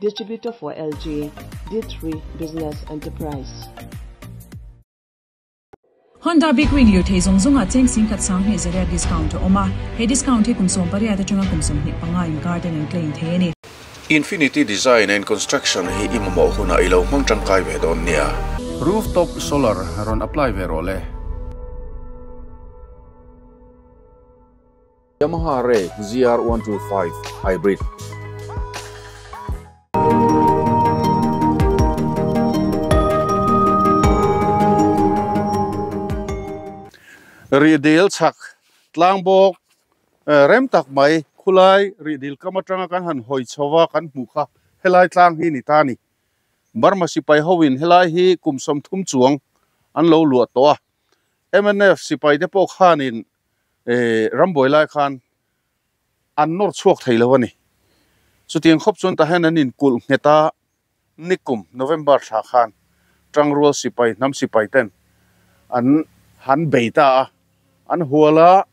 Distributor for LG, D3 Business Enterprise. Honda Big Wing lirthei zawng zawngah cheng singkhat sanghnih zariat discount a awm a, he discount hi kum 18 atanga kum 25 inkar ten an claim thei a ni. Infinity Design and Construction hi i mamawh hunah i lo hmang tangkai ve dawn nia. Rooftop solar rawn apply ve rawh le. Yamaha Ray ZR 125 Hybrid. Rihdil chhak tlang bawk rem tak mai khulai rihdil kam atanga kan han hawi chho a kan hmuh kha helai tlang hi ni ta a ni. Burma sipai ho in helai hi kum 30 chuang an lo luah tawh a. Mnf sipai te pawh khanin rambuai lai khan an nawr chhuak thei lo a ni. Chutiang khawp chuan tah hian an inkulh nghet a, nikum November thla khan Tangrual sipai hnam sipai ten an han bei ta a, an hual a,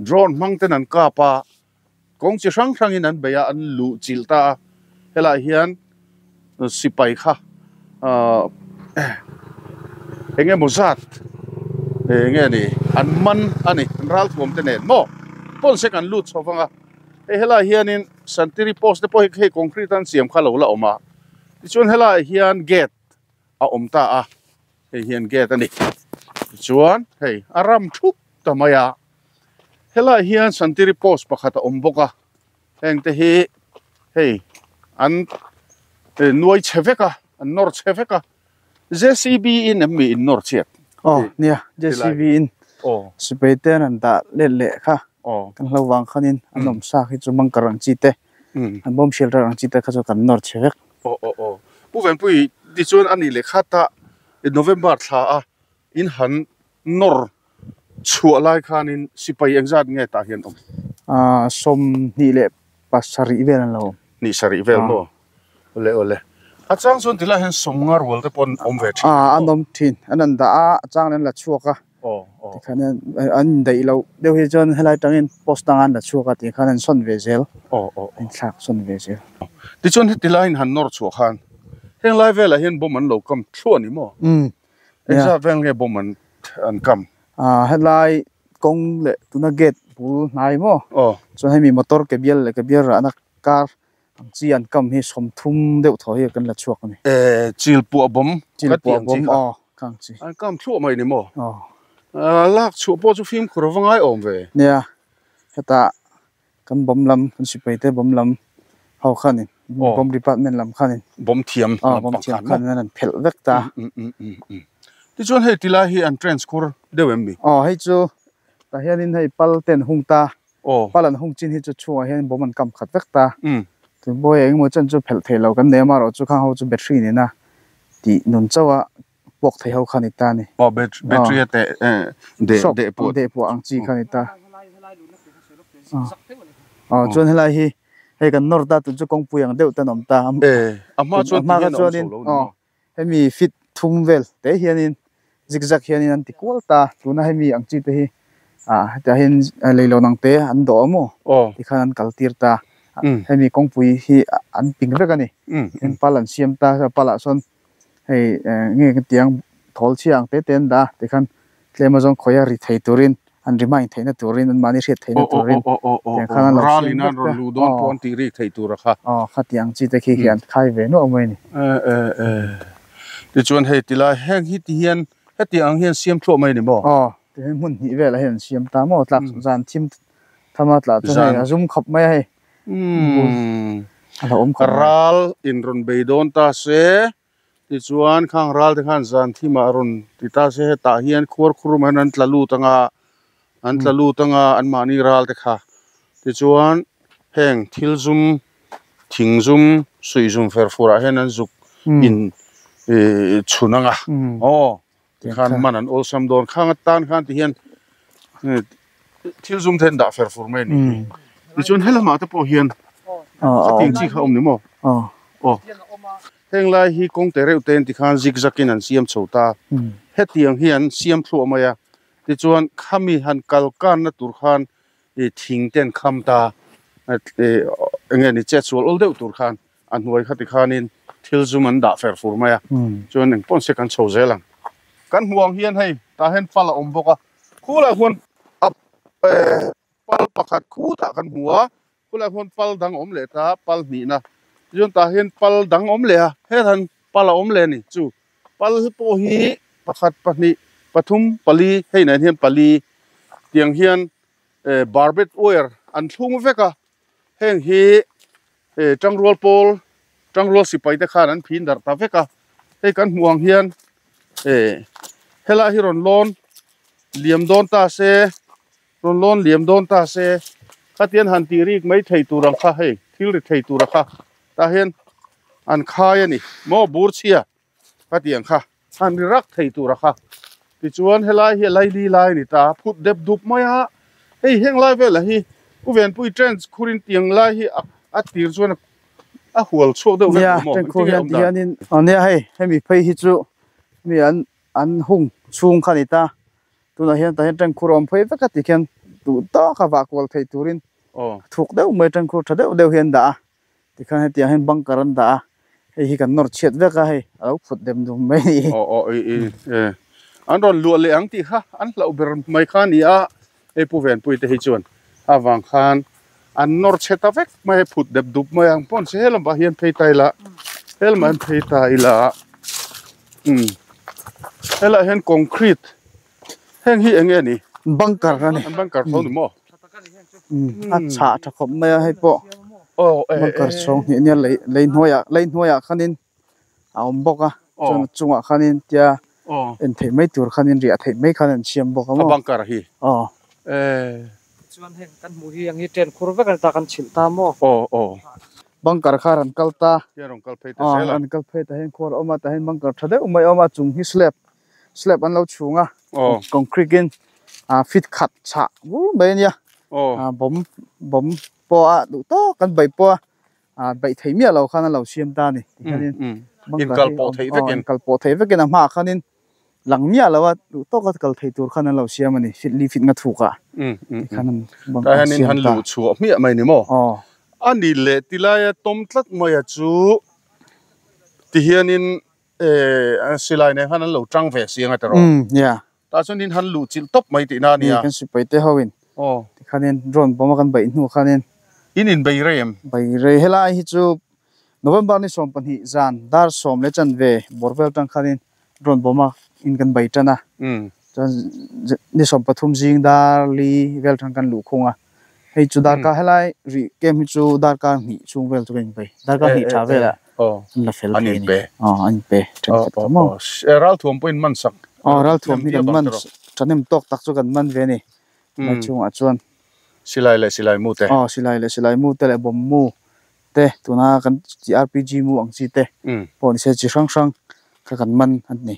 drone hmang ten an kap a, kawng chi hrang hrangin an bei a, an luh chilh ta a. Helaiah hian sipai kha eng emaw zat eng nge ni an man a ni an ralthuam te nen maw pawn se kan lut chho vang a hei helaiah hianin santiri post te pawh hi hei concrete an siam kha lo la awm a tichuan helaiah hian gate a awm ta a hei hian gate a ni tichuan hei a ram thup ta mai a helaiah hian santiri post pakhat a awm bawk a. Heng te hi hei an nuai chhe vek a, an nawr chhe vek a. JCB in em mi in nawr chhiat? Aw nia, JCB in sipai te an han dah let leh kha. Kan hlo vang khanin an awm sa khi chu bunker ang chi te, an bomb shelter ang chi te kha chu kan nawr chhe vek. Aw aw aw. Pu Venpui tichuan a nih leh khat a November thla a in han nawr chhuah lai khanin sipai engzat nge tah hian awm? 27 vel an lo awm. Hnih sarih vel maw? Awle awle. A chang chuan tilai hian 50 rual te pawh an awm ve thin. An awm thin. An an dah a, a chang an la chhuak a. Tikhan an indaih loh deuh hi chuan helai tangin post dangah an la chhuak a tikhan an sawn ve zel. An thlak sawn ve zel. Tichuan heti laiin han nawr chhuah khan heng lai velah hian bomb an lo kam thluah a ni maw? Engzat vel nge bomb an an kam? Ah helai kawng leh tuna gate bul hnai maw? Aw. Chuan hemi motor ke bial leh ke bial rahna car ang chi an kam hi 30 deuh thaw hi kan la chhuak a ni. Eh chil puah bomb ka ti ang chi kha. Aw ka ang chi. An kam thluah mai ni maw? Aw. Lak chhuah pawh chu fimkhur a va ngai awm ve. Nia hetah Kan bomb lam, kan sipai te bomb lam ho khanin, bomb department lam khanin. Bomb thiam lam pang khan maw? Bomb thiam khan an phelh vek ta. Tichuan hei tilai hi an trench khur deuh em mi? Aw hei chu tah hianin hei pal te an hung ta. Pal an hung chin hi chu chhungah hian bomb an kam khat vek ta. Tun pawh hei engemaw chen chu phelh theih loh kan nei a, amaherawhchu chu khang ho chu battery nena tih nun chauh a puak thei ho kha ni ta a ni. Aw battery a teh deh deh puah. Deh puah ang chi kha ni ta. Aw chuan helai hi hei kan nawr ta tun chu kawngpui ang deuh te an awm ta. E a hma chuan ti hian a awm chho lo ni maw? Hemi fit thum vel te hianin zigzag hianin an ti kual ta. Tuna hemi ang chi te hi ah hetiah hian leilawn ang te an dawh a maw? Tikhan an kal tir ta. Hemi kawngpui hi an ping vek a ni. Heng pal an siam ta pal ah sawn Hei nge ka tiang thawl chhia ang te te an dah a tikhan tlem azawng khawi a ri thei turin an remind theihna turin an mahni hriat theihna turin tiang khan an lo siam vek ta aw an tih rik thei tur a kha aw khati ang chi te khi khi an khai ve nuah mai a ni. Tichuan hei tilai heng hi ti hian heti ang hian siam thluah mai a ni maw? Aw tihian hmun hnih velah hian an siam ta maw tlak zan thim thama tlah chuan hei a zum khawp mai a hei. Ral in rawn bei dawn ta se, tichuan khang ral te khan zan thimah rawn ti ta se hetah hian khuar khurum hian an tla lut anga, an tla lut anga anmahni ral te kha. Tichuan heng thil zum, thing zum, suih zum fer furah hian an zuk in chhun anga aw tikhan man an awlsam dawn khang atan khan ti hian thil zum te an dah fer fur mai a ni hi. Tichuan helamah te pawh hian khatiang chi kha a awm ni maw? Aw heng lai hi kawng te reuh te an ti khan zigzag in an siam chho ta hetiang hi an siam thluah mai a tichuan khami han kal kanna tur khan thing te an kham ta eng nge ni chetsual awl deuh tur khan. a hnuai kha tikhanin thil zum an dah fer fur mai a, chuan eng pawn se kan chho zel ang. Kan hmuh ang hian hei tah hian pal a awm bawk a, khulaiah khuan a pal pakhat khutah kan hmu a, khulaiah khuan pal dang a awm leh ta, pal hnihna tichuan tah hian pal dang a awm leh a, hetah hian pal a awm leh a ni chu pal pawh hi pakhat pahnih pathum pali hei nen hian pali tiang hian barbed wire an thlung vek a. Heng hi Tangrual pawl, Tangrual sipai te khan an phin darh ta vek a, hei kan hmuh ang hian helai hi rawn lawn liam dawn ta se, rawn lawn liam dawn ta se, khatian han tih rik mai thei tur ang kha hei thil ri thei tur a kha tah hian an khai a ni maw bur chhia khatiang kha han ri rak thei tur a kha tichuan helai hi a laili lai a ni ta phut dep dup mai a hei heng lai velah hi u venpui trench khurin tiang lai hi a tir chuan a hual chhuak deuh vek maw nia khur hian tihianin nia hei hemi phei hi chu mi an an hung chhung kha a ni ta tunah hian tah hian tank khur a awm phei vek a tikhian duh tawka vah kual thei turin thuk deuh mai tank khur tha deuh deuh hi an dah a. Tikhan hetiang hian bunker an dah a, hei hi kan nawr chhiat vek a hei a lo phut dem dum mai a ni. Aw aw i i e an rawn luah leh ang tih kha an hlauh ber mai kha a ni a, hei Pu Venpui te hi chuan avang khan an nawr chhe ta vek mai a, phut dep dup mai ang pawh an che helam ah hian phei ta ila helam ah hian phei ta ila umm helaiah hian concrete heng hi eng nge ni? Bunker a ni. An bunker tho ni maw? A chhah tha khawp mai a hei pawh bunker chhawng hnih nia lei lei hnuaiah lei hnuaiah khanin a awm bawk a chuan a chungah khanin tia en theih mai tur khanin riah theih mai khan an siam bawk a maw. A bunker hi. Aw. Chuan heng kan hmuh hi ang hi train khur vek a ni ta kan chhilh ta maw. Aw aw. Bunker kha rawn kal ta. Hian rawn kal phei ta zel a. Rawn kal phei ta hian khuar a awm a tah hian bunker tha deuh mai a awm a chung hi slab slab an lo chhung a concrete in fit khat chhah bur mai a nia bawm bawm pawh a duh tawk kan beih pawh a beih theih miah lo khan a lo siam ta a ni tikhianin inkal pawh theih vekin inkal pawh theih vekin a hmaah khanin lang miah lo a duh tawk a kal thei tur khan an lo siam a ni fit li fit nga thuk ah tikhan an bunker siam ta han luh chhuah hmiah mai ni maw a ni leh tilaia tawm tlat mai a chu tihianin Eh, silai nen khan an lo tang ve si anga tiraw? Umm, yeah. Tah chuan in han luh chilh tawp mai tihna a nia. Kan sipai te ho in. Aw. Tikhanin drone bomb a kan beih hnu khanin. In in bei rei em? Bei rei helai hi chu November ni 12 zan dar sawm leh chanve bawr vel tang khanin drone bomb a in kan bei tan a. Umm. Chuan ni 13 zing dar li vel tang kan luh khung a. Hei chu darkar helai rih camp hi chu darkar hnih chhung vel chu ka inpe. Darkar hnih tha velah an la fel thei a ni. Aw an inpe thenkhat ta maw. Ralthuam pawhin man sak. Aw ralthuam hi kan man thahnem tawk tak chu kan man ve a ni. Helai chhungah chuan. Silai leh silai mu te. Aw silai leh silai mu te leh bomb mu te tuna kan chi RPG mu ang chi te pawh ni se chi hrang hrang kha kan man a ni.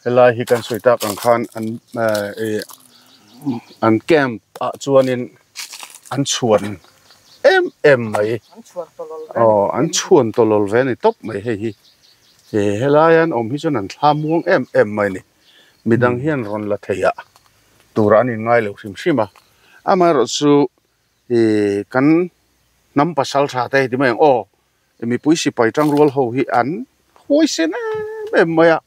Helai hi kan sawi tak ang khan an an camp ah chuanin an chhuan em em mai aw an chhuan tawlawl ve a ni tawp mai hei hi helai an awm hi chuan an thla muang em em mai a ni midang hian rawn la thei ah tur an in ngai lo hrim hrim a amaherawh chu Ih kan hnam pasal tha te ti mai ang aw mipui sipai tangrual ho hi an huaisen em em mai a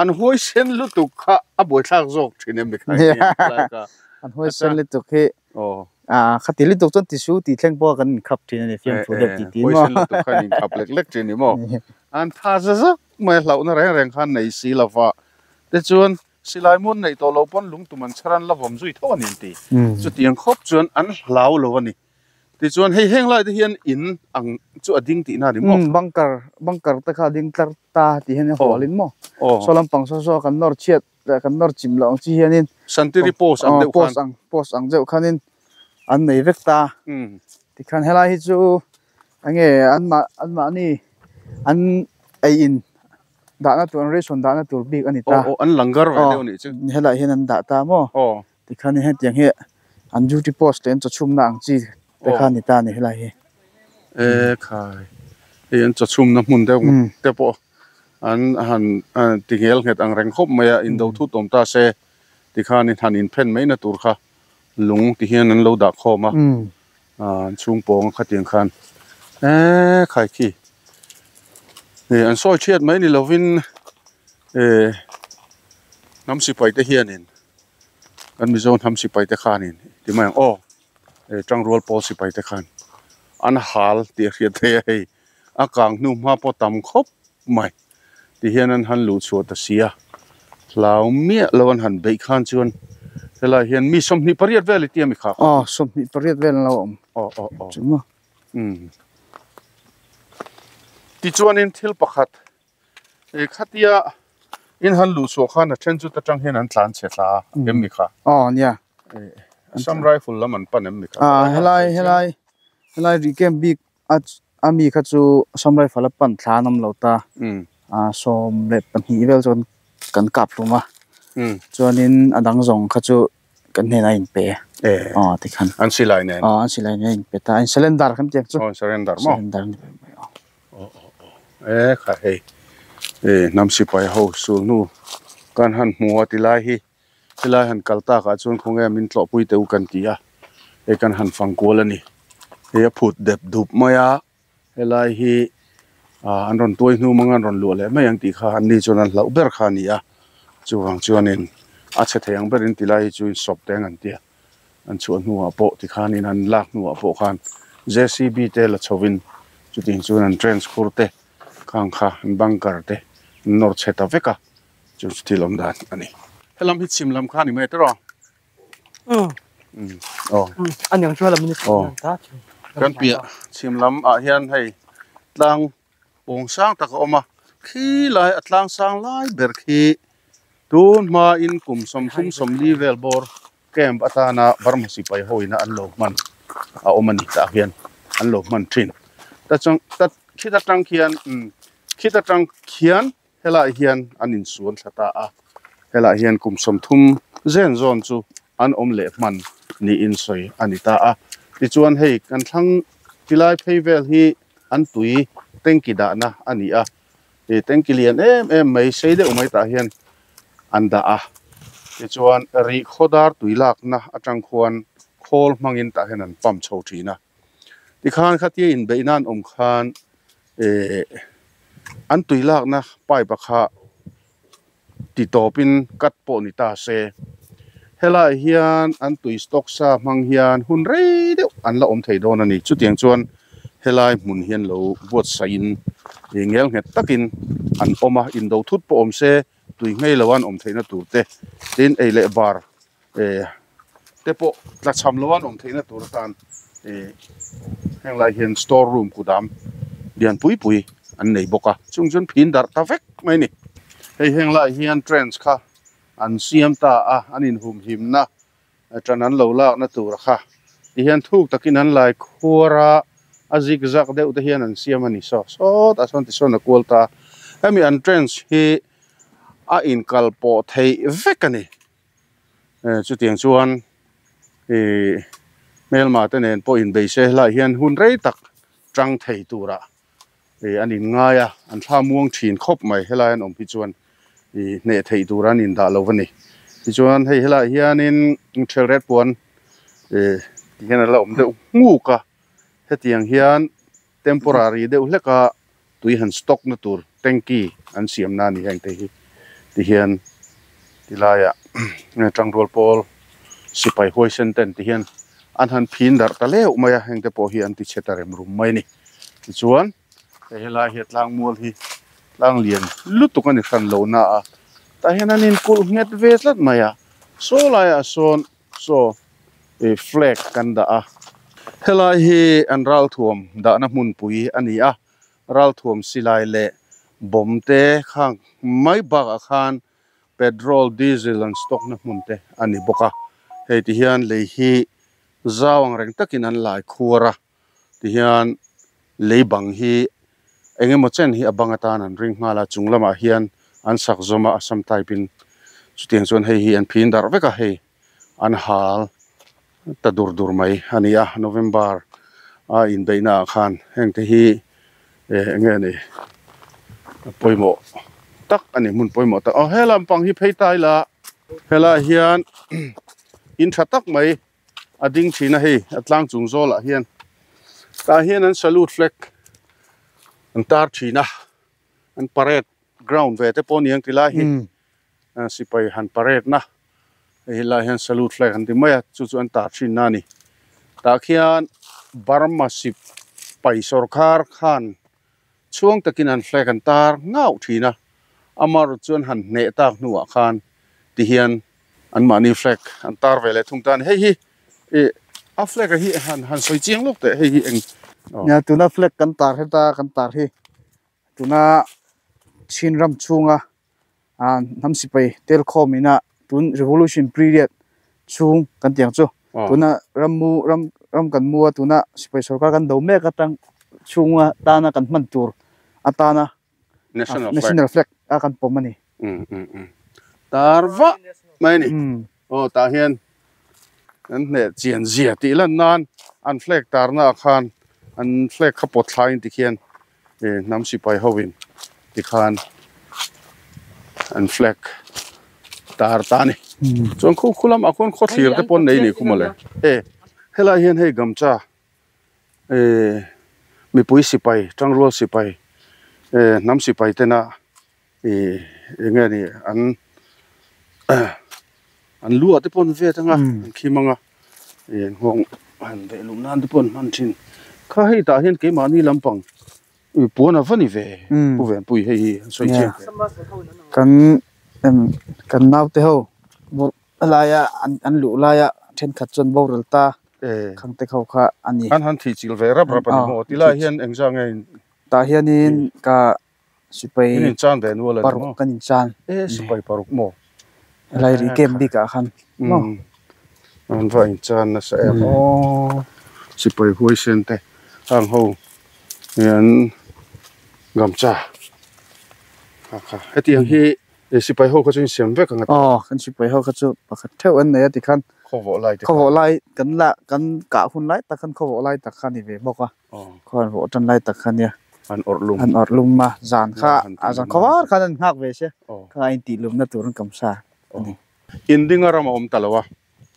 an huaisen lutuk kha a buaithlak zawk thin em mi kha an huaisen lutuk hi ah khati lutuk chuan tisu tih thleng pawh kan inkhap thin a ni fiamthu deuh tih tih maw huaisen lutuk kha an inkhap lek lek thin ni maw an tha za zak mai a hlauhna reng reng khan nei si lova tichuan Silai muan neih tawh loh pawn lungtum an chhar an la vawm zui tho a ni an ti. Chutiang khawp chuan an hlau lo a ni. Tichuan hei heng lai te hian in ang chu a ding tihna a ni maw? Umm bunker, bunker te kha a ding tlar ta tih hian a hualin maw? Saw lampang saw saw kan nawr chhiat leh kan nawr chim loh ang chi hianin Santiri post ang deuh khan. Post ang, post ang deuh khanin an nei vek ta. Tikhan helai hi chu enge anmah anmahni an ei in Dahna tur an ration dahna tur bik a ni ta. Aw aw an langar ve deuh a nih chu. Aw helaiah hian an dah ta maw? Aw. Tikhan hetiang hi an duty post leh an chawchhumna ang chi te kha a ni ta a ni helai hi. E khai hei an chawchhumna hmun deuh te pawh an han ti nghel nghet ang reng khawp mai a indo thut awm ta se tikhan in han inphen mai na tur kha lung ti hian an lo dah khawm a. An chhung pawng a khatiang khan E khai khi e an sawi thiat mai ni lovin e hnam sipai te hianin kan Mizo hnam sipai te khanin ti mai ang aw e tangrual pawl sipai te khan an hal tih a hriat theih a hei a kang hnu hma pawh tam khawp mai ti hian an han luh chhuah ta si a hlau miah lo an han beih khan chuan helai hian mi 28 vel i tia mi kha aw 28 vel an lo awm aw aw aw chu maw um tichuanin thil pakhat e khatia in han luh chhuah khan a then chu ta tang hian an tlan chhe thla em mi kha aw nia Assam Rifle lam an pan em mi kha a helai helai helai ri camp bik a ami kha chu Assam Rifle a pan thla an awm lo ta a 12 vel chuan kan kap hlum a chuanin a dang zawng kha chu kan hnenah a inpe aw tikhan an silai nen aw an silai nen a inpe ta in surrender kan tiang chu aw surrender maw surrender ni mai aw aw aw aw e kha hei e hnam sipai ho sul hnu kan han hmu a tilai hi Helai han kal takah chuan khawnge min tlawhpui teh u kan ti a, hei kan han fang kual a ni. Hei a phut dep dup mai a, helai hi ah an rawn tuai hnu mang an rawn luah leh mai ang tih kha an ni chuan an hlauh ber kha a ni a, chuvang chuanin a chhe thei ang berin tilai hi chu insawp teng an ti a, an chhuah hnuah pawh tikhanin an lak hnuah pawh khan J_C_B te la chhovin chutiang chuan an trench khur te khang kha an bunker te an nawr chhe ta vek a. Chu chu thil awm dan a ni. Helam hi chhim lam kha a ni mai tawh rawh. Aw. A niang chu helam in Aw. Kan piah chhim lam ah hian hei tlang pawng sang tak a awm a. Khi lai a tlang sang lai ber khi tun hma in kum 30 40 vel bawr camp atana Burma sipai ho ina an lo hman a awm a ni tah hian an lo hman thin. Ta chuan ta khita tang khian khita tang khian Helaiah hian an insuan thla ta a, helaiah hian kum 30 zen zawn chu an awm leh hman niin sawi a ni ta a. Tichuan hei kan thlang tilai phei vel hi an tui tanki dahna a ni a, ih tanki lian em em mai sei deuh mai tah hian an dah a. Tichuan rih khawdar tui lakna atang khuan khawl hmangin tah hian an pump chho thin a. Tikhan khatia inbeihna an awm khan eh an tui lakna pipe a kha ti tawpin cut pawh ni ta se helaiah hian an tui stock sa hmang hian hun rei deuh an la awm thei dawn a ni chutiang chuan helai hmun hian lo buatsaihin ih ngel nghet takin an awm a indo thut pawh awm se tui nghei lo an awm theihna tur te tin ei leh bar eh te pawh tla cham lo an awm theihna tur atan eh heng lai hian store room kudam lian pui pui an nei bawk a chung chuan phin darh ta vek mai a ni hei heng lai hian trench kha an siam ta a an inhumhimna tan an lo lakna tur kha ti hian thuk takin an lai khuar a a zig zag deuh te hian an siam a ni saw sawtah sawn tisawn a kual ta a hemi an trench hi a inkal pawh theih vek a ni. Chutiang chuan ih hmelma te nen pawh inbei se helaiah hian hun rei tak tang thei turah ih an inngai a, an thla muang thin khawp mai helai an awm hi chuan ih hneh theih tur an indah lo a ni. Tichuan hei helaiah hianin ṭhelret puan ih ti hian a la awm deuh nghuk a, hetiang hian temporary deuh hlek a tui han stock na tur tanky an siam na a ni heng te hi ti hian ti laiah tangrual pawl sipai huaisen ten ti hian an han phin darh ta leuh mai a heng te pawh hi an ti chhe ta rem rum mai a ni tichuan hei helai hi a tlang mual hi tlang lian lutuk a ni hran lo na a tah hian an inkulh nghet ve tlat mai a saw laiah sawn Saw ih flag kan dah a, helai hi an ralthuam dahna hmunpui a ni a, ralthuam silai leh bomb te khang mai bakah khan petrol, diesel an stock na hmun te a ni bawk a, hei ti hian lei hi zau ang reng takin an lai khuar a, ti hian lei bang hi eng emaw chen hi a bang atan an ring nghal a chung lamah hian an sak zawm a Assam type in chutiang chuan hei hi an phin darh vek a hei an hal ta dur dur mai a ni a November a inbeihna ah khan heng te hi eh eng nge ni a pawimawh tak a ni hmun pawimawh tak aw he lampang hi phei ta ila helaiah hian in tha tak mai. A ding thin a hei a tlang chung zawlah hian Tah hian an salute flag an tar thin a, an parade ground ve te pawh a ni ang ti lai hi sipai han parade na hei helai hian salute flag an ti mai a chu chu an tar thin na a ni. Tah khian Burma sipai sawrkhar khan chhuang takin an flag an tar ngauh thin a, amaherawhchu chuan han hneh tak hnuah khan ti hian an mahni flag an tar ve leh thung ta a ni. Hei hi ih a flag a hi han han sawi chiang lawk teh hei hi eng Nia tuna flag kan tar heta kan tar hi tuna Chin ram chhunga ah hnam sipai tel khawm ina tun revolution period chhung kan tih ang chu tuna rammu ram ram kan mu a tuna sipai sorkar kan do mek atang chhunga tana kan hman tur atana national flag a kan pawm a ni. Tar vah mai a ni. Aw tah hian an hneh chian zia tih lan nan an flag tarna ah khan an flag kha pawt thlaiin tikhian hnam sipai ho in tikhan an flag tar ta a ni. Chuan khu khu lamah khuan khawthlir te pawh an nei a ni khu mawle. E helai hian hei gamcha mipui sipai tangrual sipai hnam sipai tena ih eng nge ni an an lu ah te pawh an vet anga an khim anga ih nghawng han veh luh nan te pawh an hman thin kha hei tah hian keimahni lampang ih puan a va ni ve pu Venpui hei hi an sawi chiang kan kan naute ho laia an luh laia thenkhat chuan boral ta khangte ho kha a ni. An han thih chilh ve rap rap a ni maw tilai hian engzah nge tah hianin ka Sipai In inchan ve nual a ni paruk maw? kan inchan. E sipai paruk maw? Helai ri camp bik ah khan maw? An va inchan nasa em aw. Sipai huaisen te hang ho hian gamcha kha kha hetiang hi sipai ho kha chu insiam vek ang a ti. Aw kan sipai ho kha chu pakhat theuh an nei a tikhan Khawvawh lai te kha. Khawvawh lai kan la kan kah hun lai tak khan khawvawh lai tak kha a ni ve bawk a. Khaw an vawh tan lai tak kha nia. An awrh lum. An awrh lum a, zan kha a zan khaw var khan an nghak ve sia. Kha a intih lumna tur an kam sa a ni. Indinga ram a awm ta lo a,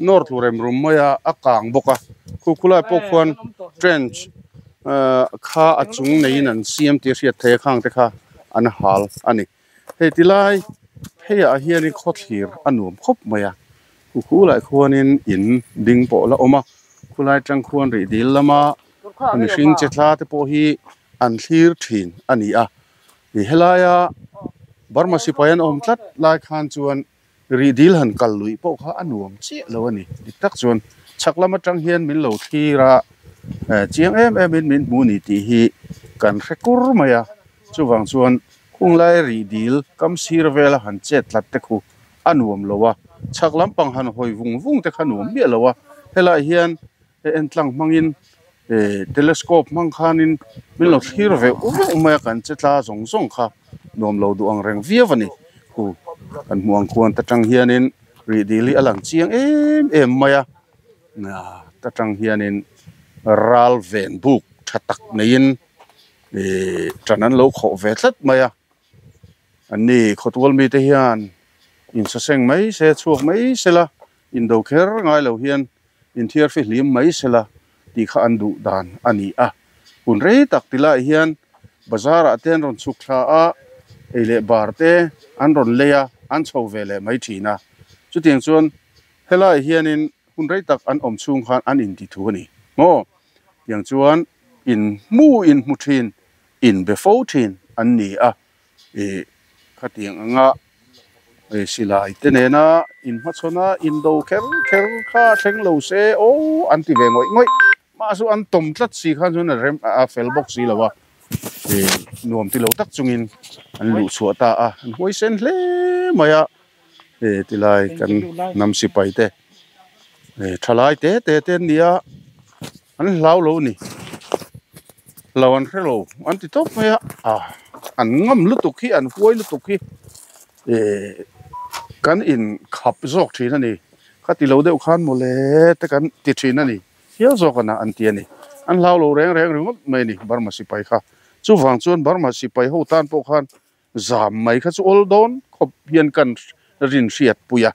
North Lurem rum mai a, a kang bawk a. Khu khulai pawh khuan trench kha a chung neiin an siam tih a hriat theih a, khang te kha an hal a ni. Hei tilai pheiah hianin khawthlir a nuam khawp mai a, khu khulai khuanin in ding pawh la awm a, khulai tang khuan rih dil lama mihring che thla te pawh hi an thlir thin a ni a, ih helaia Burma sipai an awm tlat lai khan chuan rih dil han kal luih pawh kha a nuam chiah lo a ni, dik tak chuan chhak lam atang hian min lo thlir a, chiang em em in min hmu ni tih hi kan hre kur mai a, chuvang chuan khunglai rih dil kam sir vela han chet tlat te khu a nuam lo a, chhak lampang han hawi vung vung te kha nuam miah lo a, helaiah hian entlang hmangin telescope hmang khanin min lo thlir veuh veuh mai a, kan che tla zawng zawng kha nuam lo duh ang reng viau a ni. Khu kan hmuh ang khuan ta tang hianin rih dil hi a lang chiang em em mai a, ta tang hianin ral ven buk tha tak neiin ih tan an lo khawh ve tlat mai a. Anni khawtual mite hian insaseng mai se chhuak mai sela indo kher ngai lo hian inthiar fihlim mai sela tih kha an duh dan a ni a. Hun rei tak ti lai hian bazar ah te an rawn chhuk thla a, ei leh bar te an rawn lei a, an chho ve leh mai thin a. Chutiang chuan helai hianin hun rei tak an awm chhung khan an inti thu a ni maw? Tiang chuan in hmu in hmu thin inbe fo thin an ni a, ih khatiang anga ih silai te nena inhmachhawn a indo kher kher kha a thleng lo se aw an ti ve ngawih ngawih mahse an tawm tlat si khan chuan a rem a fel bawk si lo a ih nuam ti lo tak chungin an luh chhuah ta a an huaisen hle mai a ih tilai kan hnam sipai te ih thalai te te te an ni a. An hlau lo a ni. Hlau an hre lo an ti tawp mai a, ah an ngam lutuk hi an huai lutuk hi eh kan in khap zawk thin a ni. Kha ti lo deuh khan mawle te kan ti thin a ni. Hial zawk a na an ti a ni. An hlau lo reng reng ringawt mai a ni Burma sipai kha. Chuvang chuan Burma sipai ho tan pawh khan Zam mai kha chu awl dawn khawp hian kan rin hriat pui a,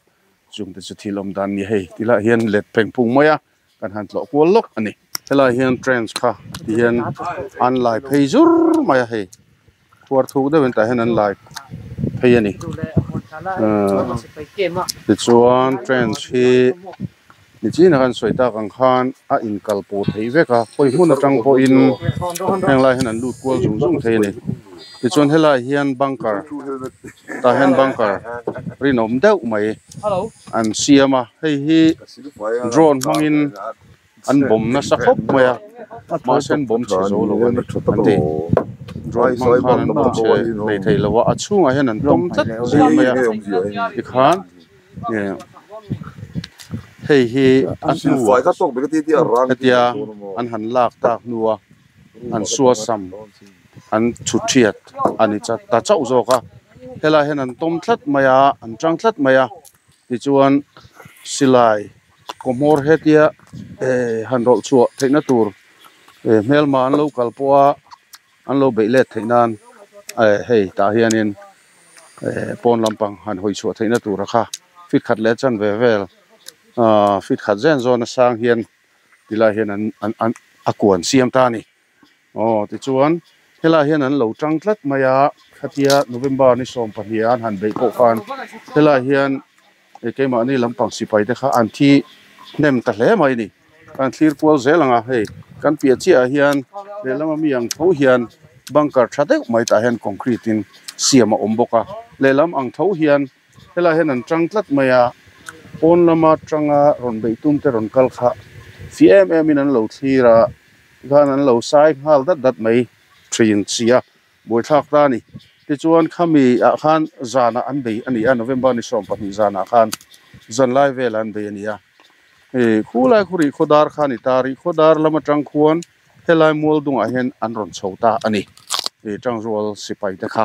chungte chu thil awm dan ni hei ti lah hian let pheng phung mai a, kan han tlawh kual lawk a ni. Helai hian trench kha ti hian an lai phei zur mai a hei khuar thuk deuhin tah hian an lai phei a ni tichuan trench hi nichin a kan sawi tak ang khan a inkal pawh theih vek a khawi hmun atang pawhin heng lai hian an lut kual zung zung thei a ni tichuan helai hian bunker tah hian bunker rinawm deuh mai an siam a hei hi drone hmangin an bawm nasa khawp mai a mahse an bawm chhe zo lo a ni an ti drone hmang khan an bawm chhe hlei thei lo a a chhungah hian an tawm tlat zel mai a tikhan hei hi a hnuah hetia an han lak tak hnua an suasam an chhut thiat a ni ta chauh zawk a helai hian an tawm tlat mai a an tang tlat mai a tichuan silai kaw hmawr hetia eh han rawlh chhuah theihna tur eh hmelma an lo kal pawh a an lo beih let theih nan eh hei tah hianin eh pawn lampang han hawi chhuah theihna tur a kha feet khat leh chan ve vel ah feet khat zen zawn a sang hian tilai hian an an an a kuan siam ta a ni. Aw tichuan helaiah hian an lo tang tlat mai a, khatia November ni 12 ah an han beih pawh khan helaiah hian keimahni lampang sipai te kha an thi hnem ta hle mai a ni. Kan thlir kual zel ang a, hei kan piah chiah ah hian lehlam ami ang tho hian bunker tha deuh mai tah hian concrete in siam a awm bawk a, lehlam ang tho hian helaiah hian an tang tlat mai a, pawn lama tanga rawn beih tum te rawn kal kha fih em em in an lo thlir a. Tikhan an lo sai nghal dat dat mai thin si a, buaithlak ta a ni. Tichuan khami ah khan zanah an bei a ni a, November ni 12 zanah khan zan lai velah an bei a ni a. Hei khulai khu rih khawdar kha a ni ta, rih khawdar lam atang khuan helai mual dungah hian an rawn chho ta a ni. Hei Tangrual sipai te kha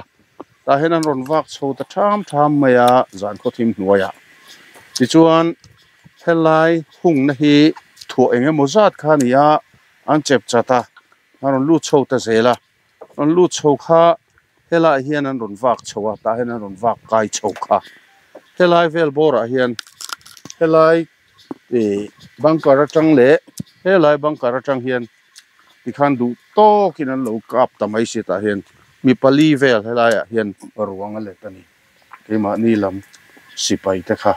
tah hian an rawn vak chho ta tham tham mai a zan khawthim hnuaiah. Tichuan Helai hungna hi thuah eng emaw zat kha a ni a, an chep chat a, an rawn lut chho ta zel a, rawn lut chho kha helaiah hian an rawn vak chho a, tah hian an rawn vak kai chho kha. Helai vel bawrah hian helai ih bunker atang leh helai bunker atang hian tikhan duh tawkin an lo kap ta mai si tah hian mi pali vel helaiah hian ruang a let a ni. Keimahni lam sipai te kha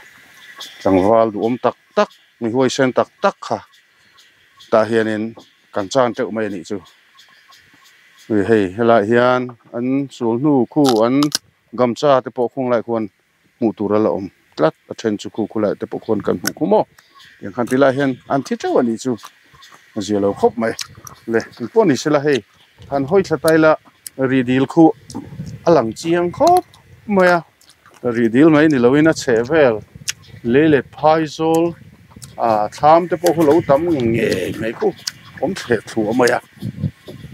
tlangval duhawm tak tak mi huaisen tak tak kha tah hianin kan chan teuh mai a nih chu. Hei helaiah hian an sul hnu khu an gamcha te pawh khung laiah khuan hmuh tur a la awm tlat a then chu khu khulaiah te pawh khuan kan hmuh khum aw tiang khan tilaiah hian an thi teuh a nih chu a zia lo khawp mai le engpawh ni sela hei han hawi thla ta ila ri dil khu a lang chiang khawp mai a ri dil mai ni loin a chheh vel lei leh phai zawl ah thlam te pawh khu lo tam ngei mai khu awm thleh thluah mai a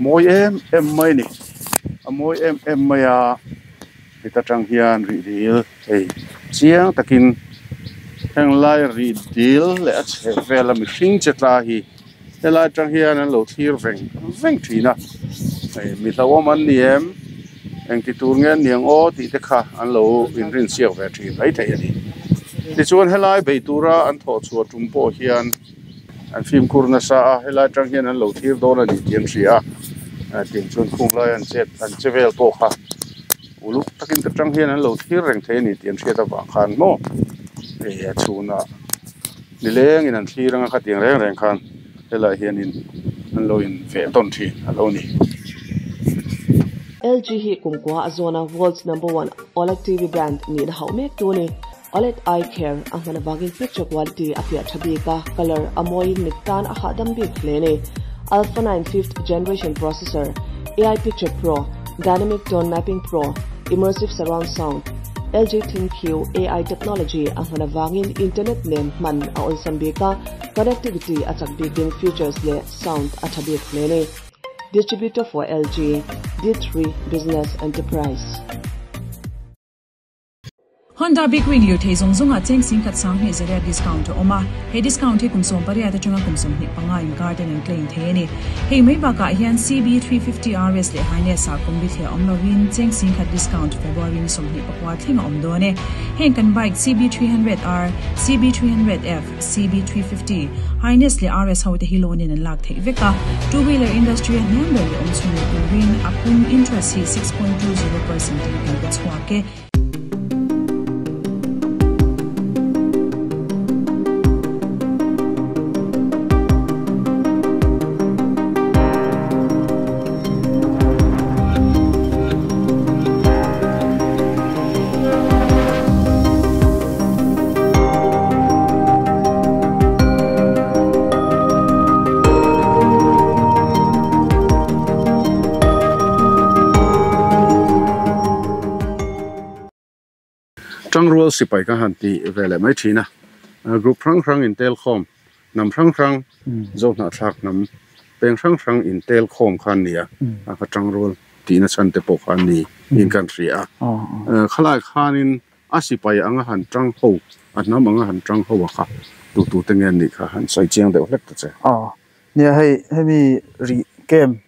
mawi em em mai a ni a mawi em em mai a heta tang hian rih dil hei chiang takin heng lai rih dil leh a chheh vel a mihring che tla hi helai atang hian an lo thlir veng veng thin a hei mi hlauhawm an ni em engti tur nge an ni ang aw tih te kha an lo inrin chhiak ve thin mai thei a ni tichuan helai bei tura an thawh chhuah tum pawh hian an fimkhur nasa a helai atang hian an lo thlir dawn a ni tih an hria a tin chuan khung lai an chet an che vel pawh kha uluk takin ta tang hian an lo thlir reng thei a ni tih an hriat avang khan maw hei a chhunah nilengin an thlir anga khatiang reng reng khan helaiah hianin an lo in veh tawn thin a lo ni. LG hi kumkua a zawna World's Number One OLED TV brand nihna hauh mek tu a ni. OLED Eye Care a hman avangin picture quality a fiah tha bik a, colour a mawiin mit tan a hahdam bik hle a ni. Alpha 9 fifth generation processor, AI Picture Pro, Dynamic Tone Mapping Pro, Immersive Surround Sound, LG ThinQ AI technology a hman avangin internet nen hman a awlsam bik a, connectivity a chak bikin features leh sound a tha bik hle a ni. Distributor for LG, D3 Business Enterprise. Honda Big Wing lirthei zawng zawngah cheng singkhat sanghnih zariat discount a awm a, he discount hi kum 18 atanga kum 25 inkar ten an claim thei a ni. Hei mai bakah hian CB350 RS leh Highness ah kum bithliah awm lovin cheng singkhat discount February ni 24 thleng a awm dawn e. Heng kan bike CB300R, CB300F, CB350, Highness leh RS ho te hi loan in an lak theih vek a, two wheeler industry a hniam ber leh awm chhun leh turin a pum interest hi 6.20% in kan pe chhuak e. Tangrual sipai ka han ti ve leh mai thin a, group hrang hrang intel khawm, hnam hrang hrang, Zohnah thlak hnam peng hrang hrang intel khawm kha an ni a, a kha tangrual tihna chhan te pawh kha an ni in kan hria a. Khalai khanin a sipai anga han tang ho, a hnam anga han tang ho a kha tu tu te nge an nih kha han sawi chiang deuh hlek ta che. Aw, nia hei hemi rih camp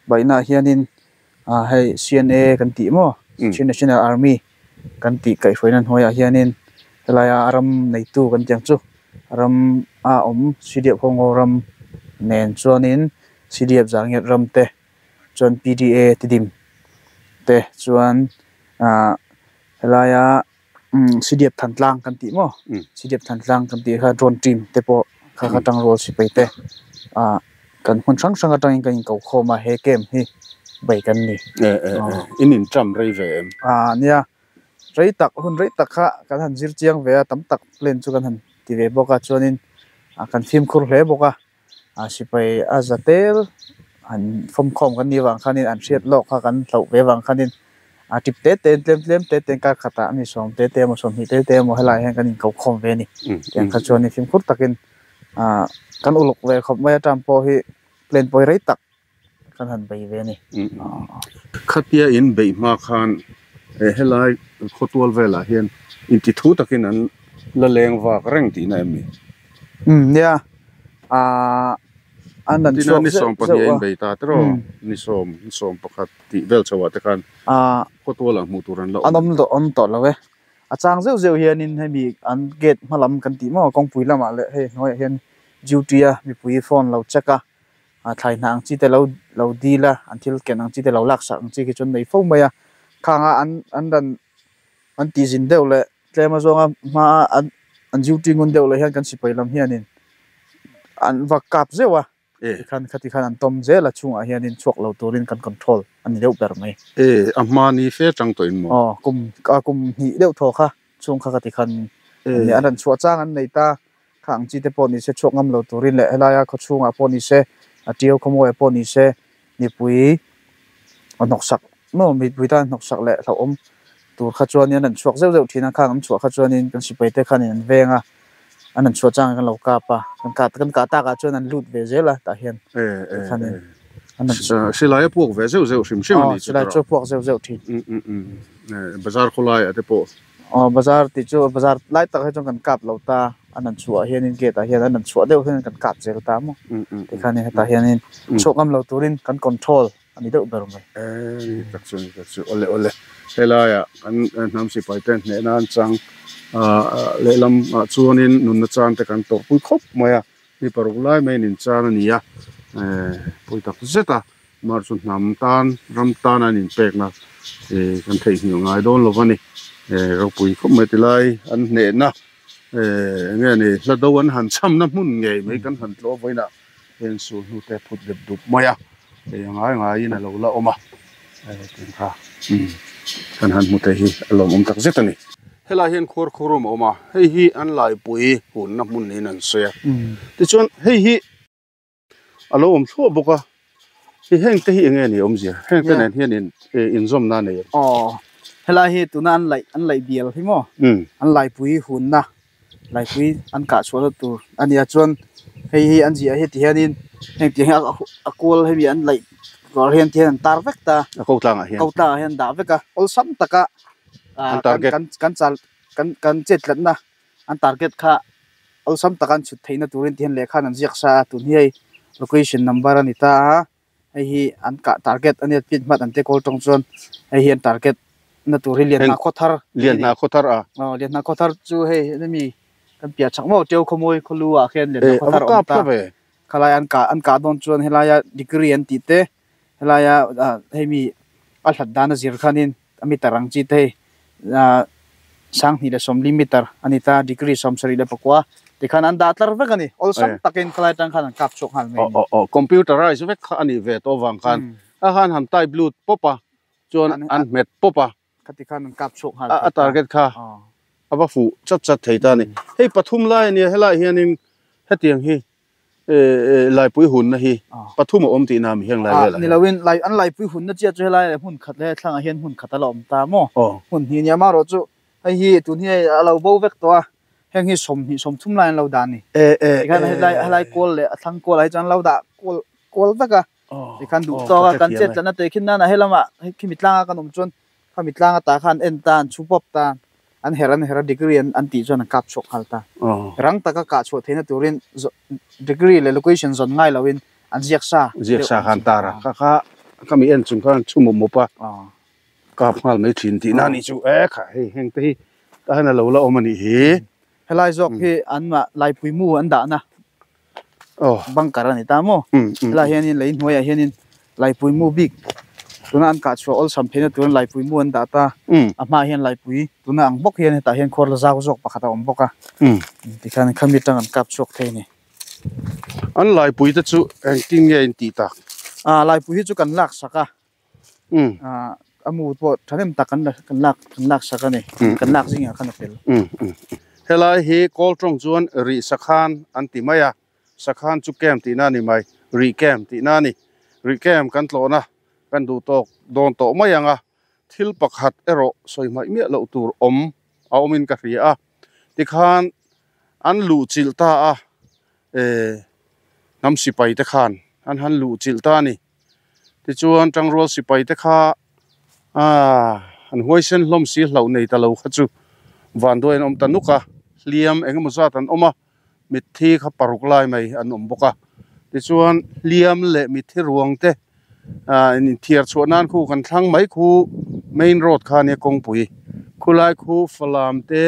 baihnaah hianin hei CNA kan tih maw Chin National Army kan tih kaihhruaina hnuaiah hianin helaia a ram neitu kan tih ang chu ram a awm CDF ho ngaw ram nen chuanin CDF Zangiat ram te chuan PDA Tidim te chuan ah helaia CDF Thantlang kan tih maw CDF Thantlang kan tih kha drone team te pawh kha kha tangrual sipai te ah kan hmun hrang hrang atangin kan inko khawm a he camp hi bei kan ni. In inṭam rei ve em? Ah nia rei tak hun rei tak kha kan han zir chiang ve a tam tak plan chu kan han ti ve bawk a chuanin kan fimkhur hle bawk a. A sipai a za tel han fawmkhawm kan nih vang khanin an hriat lawk kha kan hloh ve vang khanin a tip te te tlem tlem te te kar khatah mi sawm te te emaw sawmhnih te te emaw helaiah hian kan inko khawm ve a ni. Tiang kha chuanin fimkhur takin ah kan uluk ve khawp mai atang pawh hi plan pawi rei tak kan han bei ve a ni. Khatia in beih hma khan helai khawtual velah hian inti thu takin an la leng vak reng tihna em ni? Umm nia aah an an chhuak zeuh zeuh a. Ni sawm pahnih a in bei ta tiraw ni sawm ni sawm pakhat tih vel chho ah te khan khawtual ah hmuh tur an la awm. An awm tawh awm tawh lo e. A chang zeuh zeuh hianin hemi an gate hma lam kan tih maw kawngpui lamah leh hei hnuaiah hian duty a mipui phone lo check a a thlai hnah ang chi te lo lo dil a an thil ken ang chi te lo lak sak ang chi khi chu an nei fo mai a khang a an an ran an tih zin deuh leh tlem a zawnga hma a an an duty ngun deuh leh hian kan sipai lam hianin an va kap zeuh a tikhan khati khan an tawm zel a chhungah hianin chhuak lo turin kan control a ni deuh ber mai. E a hma ni fe chang tawh in maw? Aw kum a kum hnih deuh thaw kha chhung kha khati khan an rawn chhuah chang an nei ta. Kha ang chi te pawh ni se chhuak ngam lo turin leh helaia khaw chhungah pawh ni se a tiau khawmuaia pawh ni se mipui a hnawksak maw mipui tan hnawksak leh hlauhawm tur kha chuanin an chhuak zeuh zeuh thin a khang an chhuah kha chuanin kan sipai te khanin an veng a an an chhuah changin kan lo kap a kan kah kan kah takah chuan an lut ve zel a tah hian tikhanin an an chhuah Silai a puak ve zeuh zeuh hrim hrim a ni chu silai chu a puak zeuh zeuh thin. Bazar khawlaiah te pawh Aw bazar tih chu bazar lai tak hi chuan kan kap lo ta an han chhuah hianin gate ah hian an han chhuah deuh hian kan kap zel ta maw tikhanin hetah hianin chhuak ngam lo turin kan control a ni deuh ber mai. Ni tak chu ni tak chu awle awle helaiah kan hnam sipai te hneh nan chang lehlam ah chuanin nunna chan te kan tawrhpui khawp mai a mi paruk lai mai in chan a ni a pawi tak zet a Mar chu hnam tan, ram tan an inpekna kan theihnghilh ngai dawn lo a ni. Ropui khawp mai tilai an hnehna eng nge ni hla do an han chhamna hmun ngei mai kan han tlawh vawiinah heng sul hnu te phut dep dup mai a, hei a ngai ngaiin a lo la awm a, tih kha kan han hmu thei hi a lawmawm tak zet a ni. Helai hian khuar khurum a awm a, hei hi an laipui hunna hmun niin an sawi a, tichuan hei hi. A lo awm thluah bawk a, hi heng te hi eng nge ni awmzia? Heng te nen hian in inzawmna a nei em? Aw, helai hi tuna an laih an laih bial hi maw? An laipui hunna, laipui an kah chhuahna tur a nia chuan hei hi an ziah hi ti hianin heng tiang hi a kual hemi an laih rual hian ti hian an tar vek ta. A ko tlangah hian. Ko tlangah hian an dah vek a, awlsam taka An target. kan kan chal. kan kan chet tlatna an target kha awlsam taka an chhut theihna turin ti hian lehkha an ziak sa a tun hi hei location number a ni ta a hei hi an kah target a nia pin hmat an te kawl tawng chuan hei hi an target na tur hi Lianhna Khawthar Lianhna Khawthar a aw Lianhna Khawthar chu hei hemi kan piah chak maw Teu Khawmawi khawlu ah khian Lianhna Khawthar a awm ta khalai an kah an kah dawn chuan helaia degree an tih te helaia ah hei mi a hlat dan a zir khanin a meter ang chi te hei ah 2170 meter a ni ta degree 74 tikhan an dah tlar vek a ni awlsam takin khalai atang khan an kap chhuak nghal mai a ni. Aw aw computerize vek kha a nih ve tawh avang khan a khan han type lut pawp a chuan an hmet pawp a. Khati khan an kap chhuak nghal thei ta. A target kha a va fuh chat chat thei ta a ni. Hei pathum lai a nia helaiah hianin hetiang hi Laipui hunna hi pathum a awm tihna mi heng lai velah hian. Ni loin lai an laipui hunna chiah chu helai hmun khat leh thlangah hian hmun khat a la awm ta maw? Hmun hnih nia marawh chu hei hi tun hi hei a lo bo vek tawh a, heng hi 20 30 lai an lo dah a ni. Tikhan helai helai kual leh a thlang kualah hi chuan an lo dah kual kual vek a. Tikhan duh tawk a kan chet tlatna te khi nana helamah khimi tlanga kan awm chuan Khami tlang ata khan en ta, an chhu pawp ta, an her an her a, degree an an tih chuan an kap chhuak nghal ta. Rang taka kah chhuah theihna turin degree leh location zawn ngai loin an ziak sa Ziak sa khan tar a, kha kha khami en chung khan an chhu mawp mawp a, kap nghal mai thin tihna a nih chu. E kha hei heng te hi tah hian a lo la awm a nih hi. Helai zawk hi anmah Laipui mu an dahna bunker a ni ta maw? Helaiah hianin lei hnuaiah hianin Laipui mu bik tuna an kah chhuah awlsam theihna turin Laipui mu an dah ta. A hmaah hian Laipui tuna ang bawk hian hetah hian khuar la zau zawk pakhat a awm bawk a. Tikhian khami atang an kap chhuak thei a ni. An Laipui te chu engtin nge in tih tak? Laipui hi chu kan lak sak a. A mu pawh thahnem tak kan kan lak kan lak sak a ni kan lak zingah khan a fel. Helai hi kawl tawng chuan rih sakhan an ti mai a, sakhan chu camp tihna a ni mai, rih camp tihna a ni. Rih camp kan tlawhna kan duh tawk dawn tawh mai ang a, thil pakhat erawh sawi hmaih miah loh tur awm a awmin ka hria a, tikhan an luh chilh ta a, hnam sipai te khan an han luh chilh ta a ni. Tichuan Tangrual sipai te kha aaa an huaisen hlawm si hlauh nei ta lo kha chu vanduai an awm ta nuk a, hliam eng emaw zat an awm a, mitthi kha paruk lai mai an awm bawk a. Tichuan hliam leh mitthi ruang te aaa inthiar chhuah nan khu kan thlang mai khu main road kha ania kawngpui khulai khu Falam te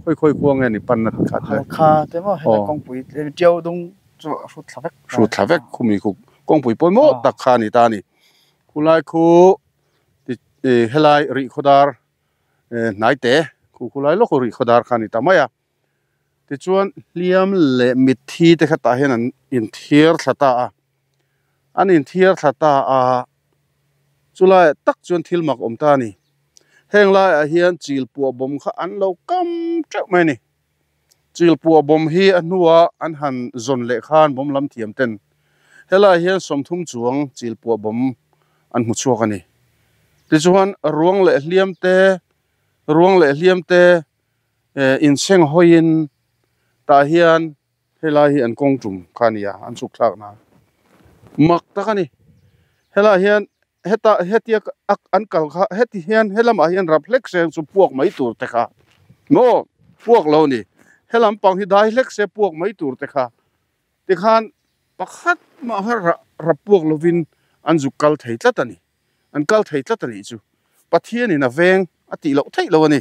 khawi khawi khua nge ni panna khat le. Halkha te maw heta kawngpui Tiau dung chu a hrut thla vek. Hrut thla vek khumi khu kawngpui pawimawh tak kha a ni ta a ni. Khulai khu helai rih khawdar hnai te khu khulai lawk rih khawdar kha a ni ta mai a. Tichuan hliam leh mitthi te kha tah hian an inthiar thla ta a. An inthiar thla ta a, chulaiah tak chuan thil mak awm ta a ni. Heng laiah hian chil puah bawm kha an lo kam teuh mai a ni. Chilpuah bawm hi a hnua an han zawn leh khan bawm lam thiam ten helaiah hian 30 chuang chilpuah bawm an hmu chhuak a ni. Tichuan ruang leh hliam te ruang leh hliam te inseng hawiin tah hian helai hi an kawng tum kha a ni a, an chhuk thlak nan mak tak a ni. Helaiah hian heta hetia an kal kha heti hian helamah hian rap hlek se chu puak mai tur te kha maw puak lo ni helam pang hi dai hlek se puak mai tur te kha tikhan pakhat mah kha rap puak lovin an zuk kal thei tlat a ni an kal thei tlat a nih chu Pathianin a veng a tih loh theih lo a ni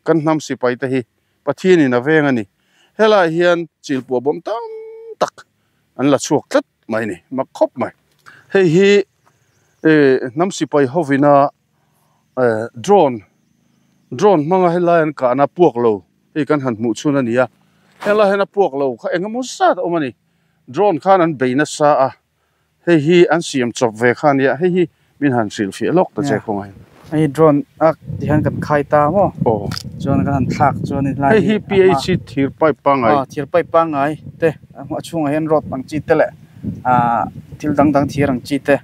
kan hnam sipai te hi Pathianin a veng a ni helaiah hian chilpuah bawm tam tak an la chhuak tlat mai ni mak khawp mai hei hi hnam sipai hovina drone drone hmanga helai an kahna puak lo hei kan han hmuh chhun a ni a helai hian a puak lo kha eng emaw zat a awm a ni drone khan an bei nasa a hei hi an siam chawp ve kha a nia hei hi min han hrilh fiah lawk ta che khawngaih hei drone a ti hian kan khai ta maw aw chuan kan han thlak chuan helai hei hi PH thir pipe pangngai aw thir pipe pangngai te a chhungah hian rod ang chi te leh ah thil dang dang thir ang chi te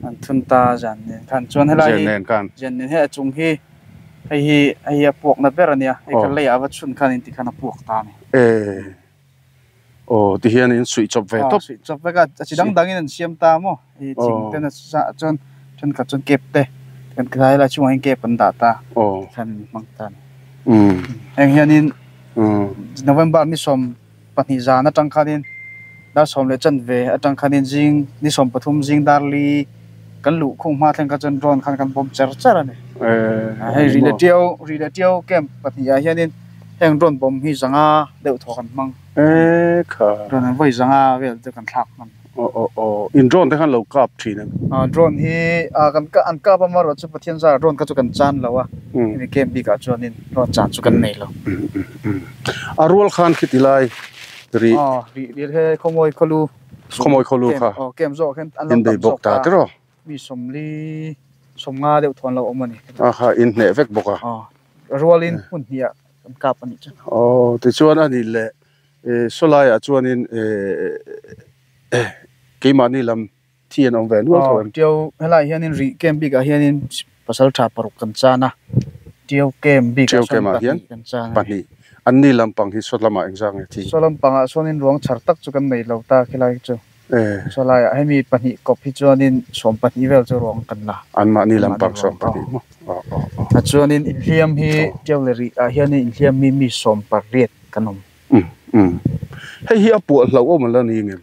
an thun ta zan nen khan chuan helai hi zan nen hei a chung hi hei hi hei hi a puak na ber a nia hei kha leiah a va chhun khan in tikhan a puak ta a ni. Aw ti hian in suih chawp ve tawp. Suih chawp vek a, a chi dang dangin an siam ta maw? Hei thing ten a chuan thenkhat chuan kep te kan helai chungah hian kep an dah ta. Aw. Tikhan an hmang ta a ni. Heng hianin November ni 12 zan atang khanin dar 10 leh chanve atang khanin zing ni 13 zing dar li kan lu khung ma thleng ka chuan drone khan kan bom cher cher ani. Hei ri le tiau camp 2 ah hianin heng drone bom hi zanga deuh thaw kan hmang. E kha. Drone an voi zanga vel te kan thlak hman. O o o in drone te khan lo kap thin em? Drone hi kan ka an kap ama ro chu Pathian za drone ka chu kan chan lo a. Hemi camp bik ah chuanin drone chan chu kan nei lo. A rual khan khitilai ri. Ri ri he khomoi kholu. Khomoi kholu kha. O camp zo khan an lo in bei tam bok zawk ta ta. Te ro. Mi 40 50 deuh thuan lo awm ani. A kha in hne vek bawk a. Rualin hun hnia kan kap ani chu. O ti chuan ani le solai ah chuanin keimahni lam thi an awm ve nual tho em? Tiau helai hianin ri camp bik ah hianin pasal tha 6 kan chan a. Tiau camp bik ah Tiau chuan camp ah hian 2 kan chan a. 2 an ni lampang hi sawt lamah engzah nge thi? Saw lampangah chuanin ruang chhar tak chu kan nei lo ta khilai chu. Sawlai ah hemi 2 kawp hi chuanin 12 vel chu ruang kan la. An mahni lampang Mahni sawm ruang, pahnih maw? O o o. A chuanin inhliam hi tiau le ri ah hianin inhliam mi mi 18 kan awm. Hei hi a puah hlo awm la ni ngem?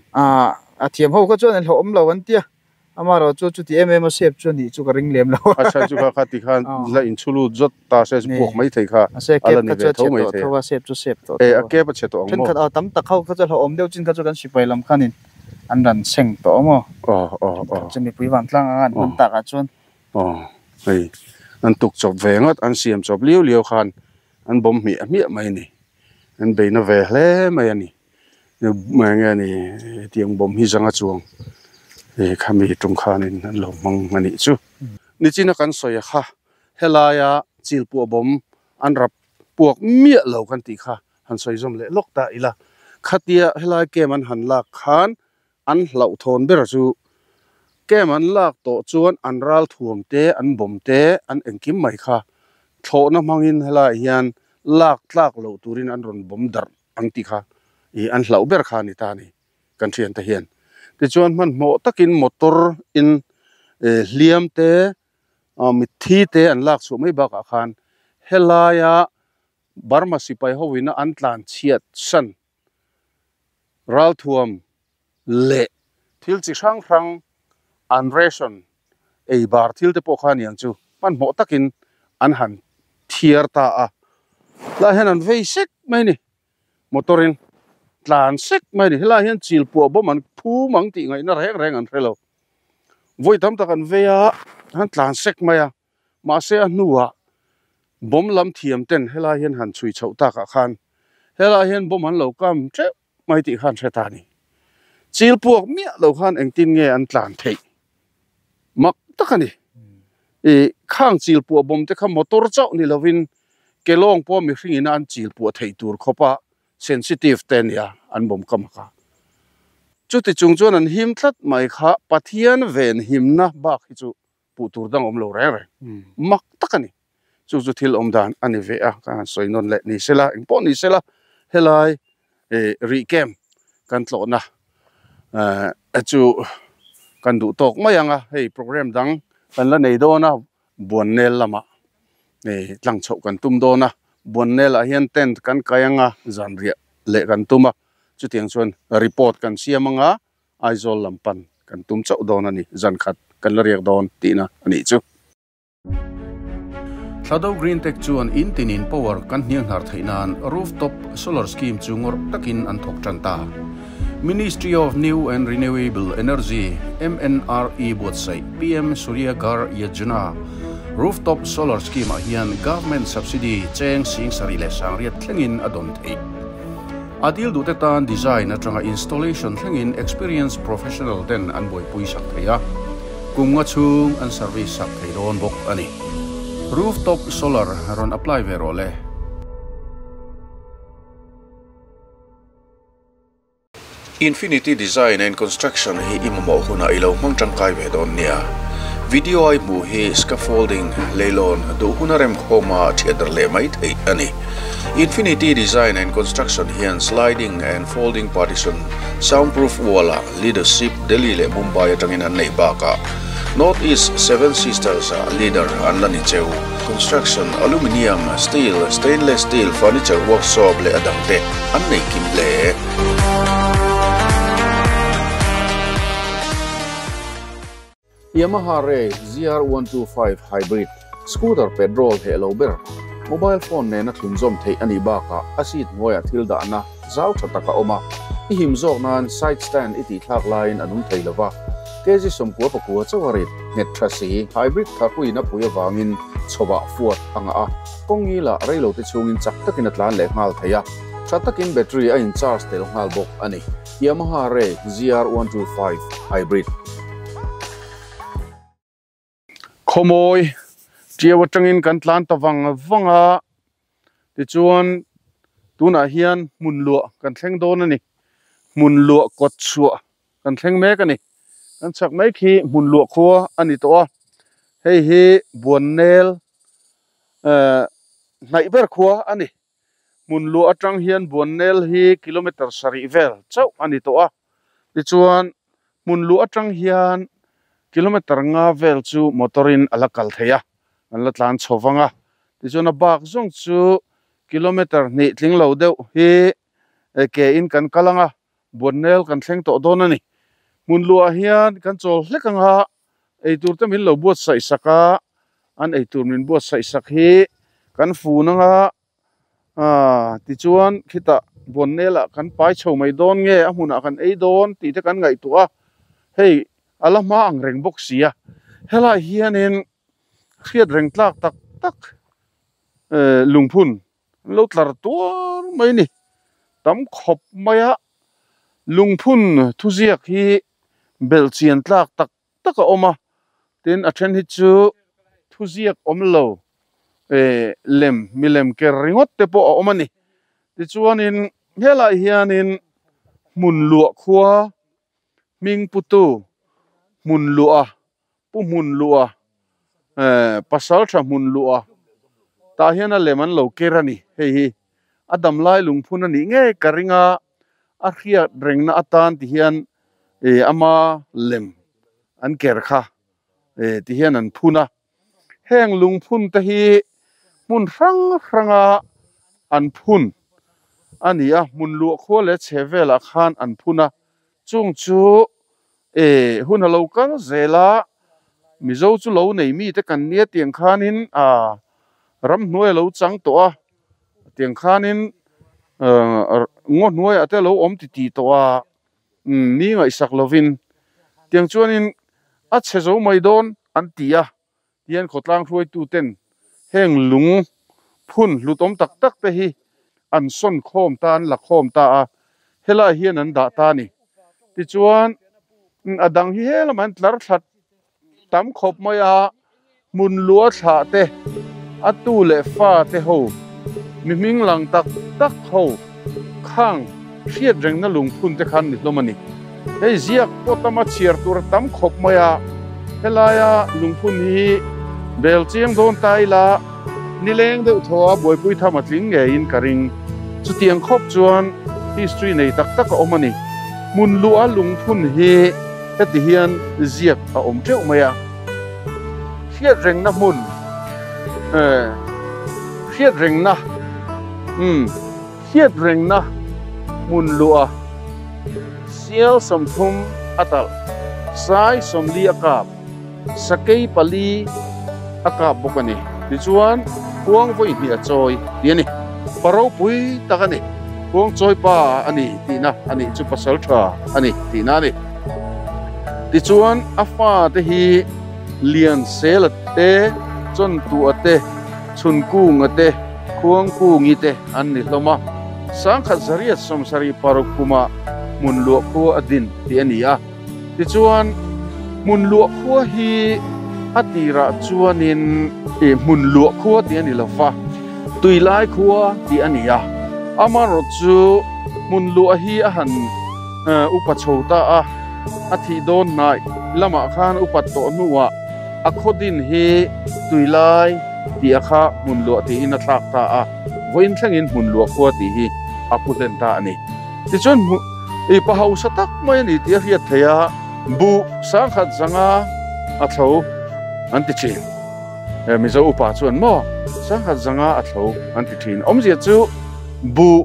A thiam ho kha chuan an hlo awm lo an tia. Ama ro chu chuti em em a sep chu ni chu ka ring lem lo. A chan chu kha kha ti khan la in chulu zot ta se chu Ni. Puak mai thei kha. A se Ala kep ni kha ve chu a tho che mai tawh thei. tho a sep chu sep tawh E tho a a. kep a che tawh ang Then maw? khat a tam tak ho kha chu hlo awm deuh chin kha chu kan sipai lam khanin an ran seng tawh maw. O o o. Chu mipui van tlang anga an hman tak ah chuan. O hei an tuk chawp ve ngat an siam chawp liu liu khan an bawm hmiah hmiah mai ni. An beina ve hle mai ani. Mai nge ni tiang bawm hi zanga chuang. E khami tung khanin an lo hmang ani chu. Ni china kan sawi kha helaya chil pu bawm an rap puak miah lo kan ti kha han sawi zawm leh lawk ta ila. Khatia helai kem an han lak khan an hlauh thawn ber chu kem an lak tawh chuan an ral thuam te an bawm te an engkim mai kha thlawhna hmangin helai hian lak tlak lo turin an rawn bawm darh ang ti kha i an hlauh ber kha ni ta ni kan thian te hian. Tichuan hmanhmawh takin motor in hliam te mitthi te an lak chhuah mai bakah khan helaia Burma sipai hoina an tlan chhiat san ral thuam le thil chi hrang hrang an ration ei bar thil te pawh kha aniang chu hmanhmawh takin an han thiar ta a. Lai hian an vei sek mai ni. Motorin tlan sek mai ni. Helai hian chil puah bawm an phum ang tih ngaihna reng reng an hrelo. Voi tam tak an vei a han tlan sek mai a. Mahse a hnuah bawm lam thiam ten helai hian han chhui chhoh takah khan helai hian bawm an lo kam teuh mai tih khan hre ta ni. Chil puak miah lo khan engtin nge an tlan theih. Mak tak ani. E khang chil puah bawm te kha motor chauh ni lovin kelawng pawh mi hringin an chil puah thei tur khawpa sensitive te nia an bawm kam kha. Chuti chung chuan an him tlat mai kha Pathian ven himna bak hi chu puh tur dang awm lo reng reng. Mak tak ani. Chu chu thil awm dan ani ve a kan han sawi nawn leh ni sela engpawh ni sela helai e ri kem kan tlawhna chu kan duh tawk mai anga hei program dang kan la nei dawn a buan nel lamah e tlang chhoh kan tum dawn a buan nel ah hian tent kan kai anga zan riah leh kan tum a chutiang chuan report kan siam anga Aizawl lampan kan tum chauh dawn ani zan khat kan la riak dawn tihna ani chu. Thlado Green Tech chuan in tinin power kan hniang hnar theih nan rooftop solar scheme chu ngawrh takin an thawk tan ta. Ministry of New and Renewable Energy MNRE buatsaih PM Surya Ghar Yojana rooftop solar scheme ah hian government subsidy cheng 78,000 thlengin a dawn theih. A dil duh te tan design atanga installation thlengin experienced professional ten an buaipui sak thei a. Kum nga chhung an service sak thei dawn bawk ani. Rooftop solar rawn apply ve rawh le. Infinity Design and Construction hi i mamawh hunah i lo hmang tangkai ve dawn nia. Video ai hmuh hi scaffolding, leilawn, duh huna rem khawma thiat dar leh mai theih ani. Infinity Design and Construction hian sliding and folding partition, soundproof wall ah leadership Delhi leh Mumbai atangin an nei bakah North East Seven Sisters ah leader an la ni cheu. Construction, Aluminium, Steel, Stainless Steel, Furniture Workshop leh a dangte an nei kim hle. Yamaha Ray ZR125 Hybrid Scooter petrol heh lo ber, mobile phone nena thlunzawm theih a nih bakah a seat hnuaiah thil dahna zau tha tak a awm a, i him zawk nan side stand i tihthlak laiin a nung thei lo va, kg 99 chauh a rit nghet tha si. Hybrid tharpuiin a pui avangin chhawah fuat a ngah a, kawng ngilah reilote chhungin chak takin a tlan leh nghal thei a, tha takin battery a in charge tel nghal bawk a ni. Yamaha Ray ZR125 Hybrid. Khawmawi ṭiau aṭangin kan tlan ta vang vang a, tichuan tunah hian hmun luah kan thleng dawn a ni. Hmun luah kawt chhuah kan thleng mek a ni. Kan chhak mai khi hmun luah khua a ni tawh a, hei hi Buannel eh hnaih ber khua a ni. Hmun luah atang hian Buannel hi kilometer sarih vel chauh a ni tawh a, tichuan hmun luah atang hian kilometer nga vel chu motor in a la kal thei a, an la tlan chho vang a, tichuan a bak zawng chu kilometer hnih tling lo deuh hi ke in kan kal ang a, Buannel kan thleng tawh dawn a ni. Hmun luah hian kan chawl hlek ang a, eitur te min lo buatsaih sak a, an eitur min buatsaih sak hi kan fun ang a, aaa tichuan khitah Buannel ah kan pai chho mai dawn nge a hmunah kan ei dawn tih te kan ngaihtuah a, hei a la hma ang reng bawk si a, helai hianin hriat reng tlak tak tak eh lungphun An lo tlar tuar mai a ni. Tam khawp maia lungphun thuziak hi belhchian tlak tak tak a awm a, tin a then hi chu thuziak awm lo eh lem milem ker ringawt te pawh a awm a ni. Tichuanin helai hianin hmun luah khua hming putu hmun luah Pu hmun luh a, eh pasal tha hmun luh a, tah hian a lem an lo ker a ni. Hei hi a dam lai lungphun a nih ngei ka ring a, a hriat rengna atan ti hian eh ama lem an ker kha eh ti hian an phun a. Heng lungphun te hi hmun hrang hranga an phun a ni a, hmun luah khua leh chhe velah khan an phun a, chung chu E, hun a lo kal zel a, Mizo chu lo nei mite kan nia tiang khanin a ramhnuai a lo chang tawh a, tiang khanin ngaw hnuaiah te a lo awm ti ti tawh a, ni ngaihsak lovin tiang chuanin a chhe zo mai dawn an ti a, Tian khawtlang hruaituten heng lung phun hlutawm tak tak te hi an sawn khawm ta, an la khawm ta a, helai hian an dah ta a ni. Tichuan, a dang hi he lamah an tlar thla tam khawp mai a, hmun lua thlah te, a tu leh fa te ho, mi hming lang tak tak ho khang hriat rengna lungphun te khan ni hlawm a ni. Hei ziak pawh tama chhiar tur a tam khawp mai a, helaia lungphun hi bel chiang dawn ta ila nileng deuh thaw a buaipui tham a tling ngeiin ka ring. Chutiang khawp chuan history nei tak tak a awm a ni. Hmun luh a lungphun hi heti hian ziak a awm teuh mai a. Hriat rengna hmun eh hriat rengna umm. Hriat rengna hmun luah sial 30 a talh, sai 40 a kap, sakei pali a kap bawk a ni. Tichuan, khuang vawi hnih a chawi tih a ni. Pa ropui tak a ni. Khuang chawi pa a ni tihna a nih chu pasal tha a ni tihna a ni. Tichuan, a fate hi Liansela te, Chawntua te, Chhunkunga te, Khuangkungi te an ni hlawm a, 1976 kumah hmun luah khua a din tih a ni a. Tichuan, hmun luah khua hi a tirah chuanin hmun luah khua tih a ni lo va, tuilai khua tih a ni a. Amaherawhchu chu hmun luah hi a han upa chho ta a, a thih dawn hnaih lamah khan upat tawh hnuah a khaw din hi tuilai tih a kha hmun luah tiin a thlak ta a, vawiin thlengin hmun luah khua tih hi a pu hlen ta a ni. Tichuan hmu i pa hausa tak mai a ni tih a hriat theih a, buh 10,100. a thlo an ti thin. Mizo upa chuan maw sangkhat zanga a thlo an ti thin. Awmzia chu buh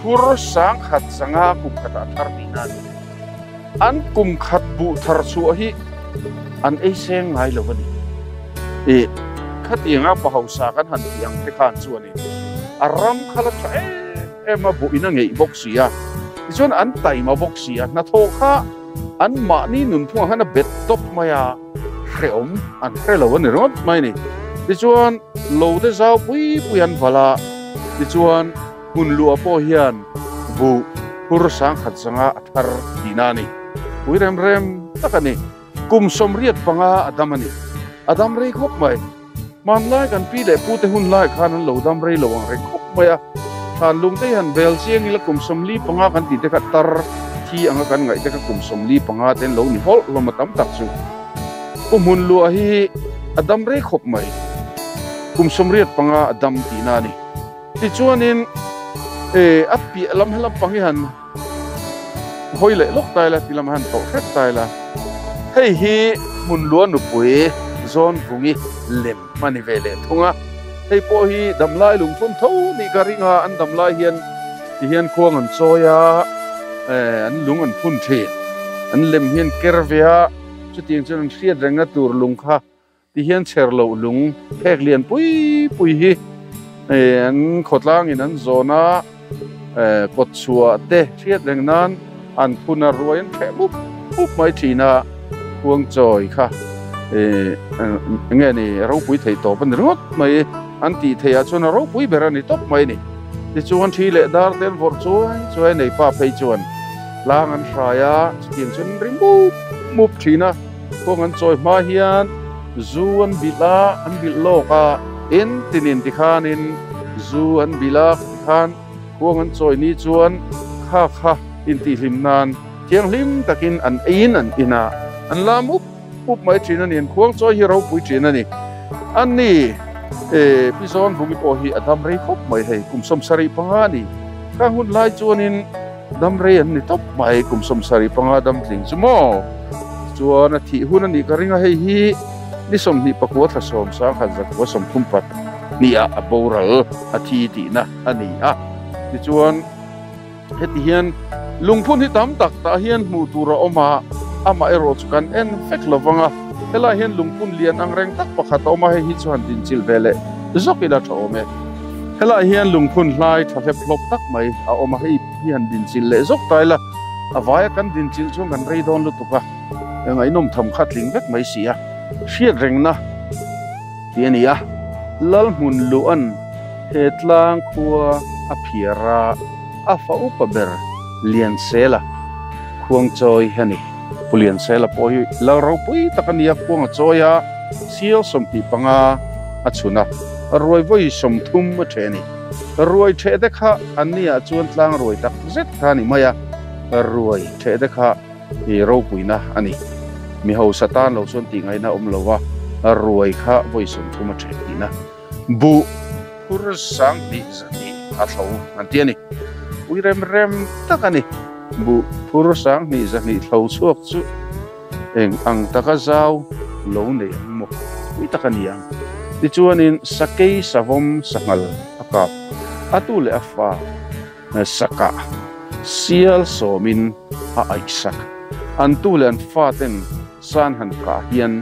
phur sangkhat zanga kum khatah a thar tihna a ni. An kum khat buh thar chhuah hi an ei seng ngai lo a ni. Ih, khatianga pa hausa kan han tih ang te khan chuanin a ram kha la tha em em a, buh in a ngeih bawk si a, tichuan an taima bawk si a, hnathawh kha an mahni nunphungah khan a bet tawp mai a, hrehawm an hre lo a ni ringawt mai a ni. Tichuan lo te zau pui pui an valh a, tichuan Hmun luah pawh hian buh phur sangkhat zanga a thar tihna a ni. Pui rem rem tak a ni. Kum 85 a dam a ni. A dam rei khawp mai. Hmanlai kan pi leh pute hun lai khan an lo dam rei lo ang reng khawp mai a. Thlan lung te hi han bel chiang ila kum 45 kan tih te kha tar thi anga kan ngaih te kha kum 45 te an lo ni hawlh hlawm a tam tak chu. Pu hmun luah hi a dam rei khawp mai. Kum 85 a dam tihna a ni. Tichuanin e a piah lam helam pang hi han hawi leh lawk ta ila ti lam han tawh hrep ta ila hei hi hmun lua nupui zawn vungi lem a ni ve leh thung a hei pawh hi damlai lungphun tho nih ka ring a an damlai hian ti hian khuang an chawi a an lung an phun thin an lem hian ker ve a chutiang chuan an hriat rengna tur lung kha Ti hian chher loh lung phek lian pui pui hi an khawtlangin an zawn a, kawt chhuah te hriat reng nan an phun a, ruai an hreh mup mup mai thin a, khuangchawi kha eng nge ni ropui thei tawp a ni ringawt mai, an tih theih ah chuan a ropui ber a ni tawp mai a ni. Tichuan thi leh dar te an vawrh chuai chuai a, nei pa phei chuan tlang an hrai a, chutiang chuan an ri mup mup thin a. Kawng an chawi hma hian zu an bilh a, an bilh lawk a, in tinin tikhanin zu an bilh a, tikhan kawng an chawi ni chuan kha kha intihhlim nan thianghlim takin an eiin an in a, an lam up up mai thin a ni, an khuang chawi hi ropui thin a ni. Ani e Pi Zawnvungi pawh hi a dam rei khawp mai hei, kum 75 a ni. Khang hun lai chuanin Dam rei an ni tawp mai, kum 75 dam tling chu maw? Chuan a thih hun a nih ka ring a, hei hi ni 29 thla sawm sangkhat zakua sawmthum pat hnih ah a boral a thi tihna a ni a. Tichuan heti hian lungphun hi tam tak tah hian hmuh tur a awm a, amah erawh chu kan en vek lo vang a, helai hian lungphun lian ang reng tak pakhat a awm a, hei hi chu han dinchilh ve leh zawk ila tha awm e. Helai hian lungphun hlai tha hlep hlawp tak mai a awm a, hei hi han dinchilh leh zawk ta ila, a vaia kan dinchilh chuan kan rei dawn lutuk a, ngaihnawm tham kha tling vek mai si a, hriat rengna tih a ni a, Lalhmun luh an he tlang khua a phiar a, a fa upa ber Liansela khuangchawi a ni. Pu Liansela pawh hi lal ropui tak a ni a, khuang a chawi a, sial 25 a chhun a. Ruai vawi 30 a ṭheh a ni. Ruai ṭheh te kha an ni ah chuan tlang ruai tak zet kha a ni mai a, ruai ṭheh te kha i ropuina a ni. Mi hausa tan lo chuan tih ngaihna a awm lo a, ruai kha vawi 30 a ṭheh tihna. Buh phur 2000 100 a thlo an ti a ni. Pui rem rem tak a ni. Buh phur 2000 100 thlo chhuak chu Eng ang taka zau lo nei ang maw? Pui tak a ni ang. Tichuanin sakei savawm sanghal a kap a tu leh a fa sakah sial sawmin a aihsak. An tu leh an faten san han kah hian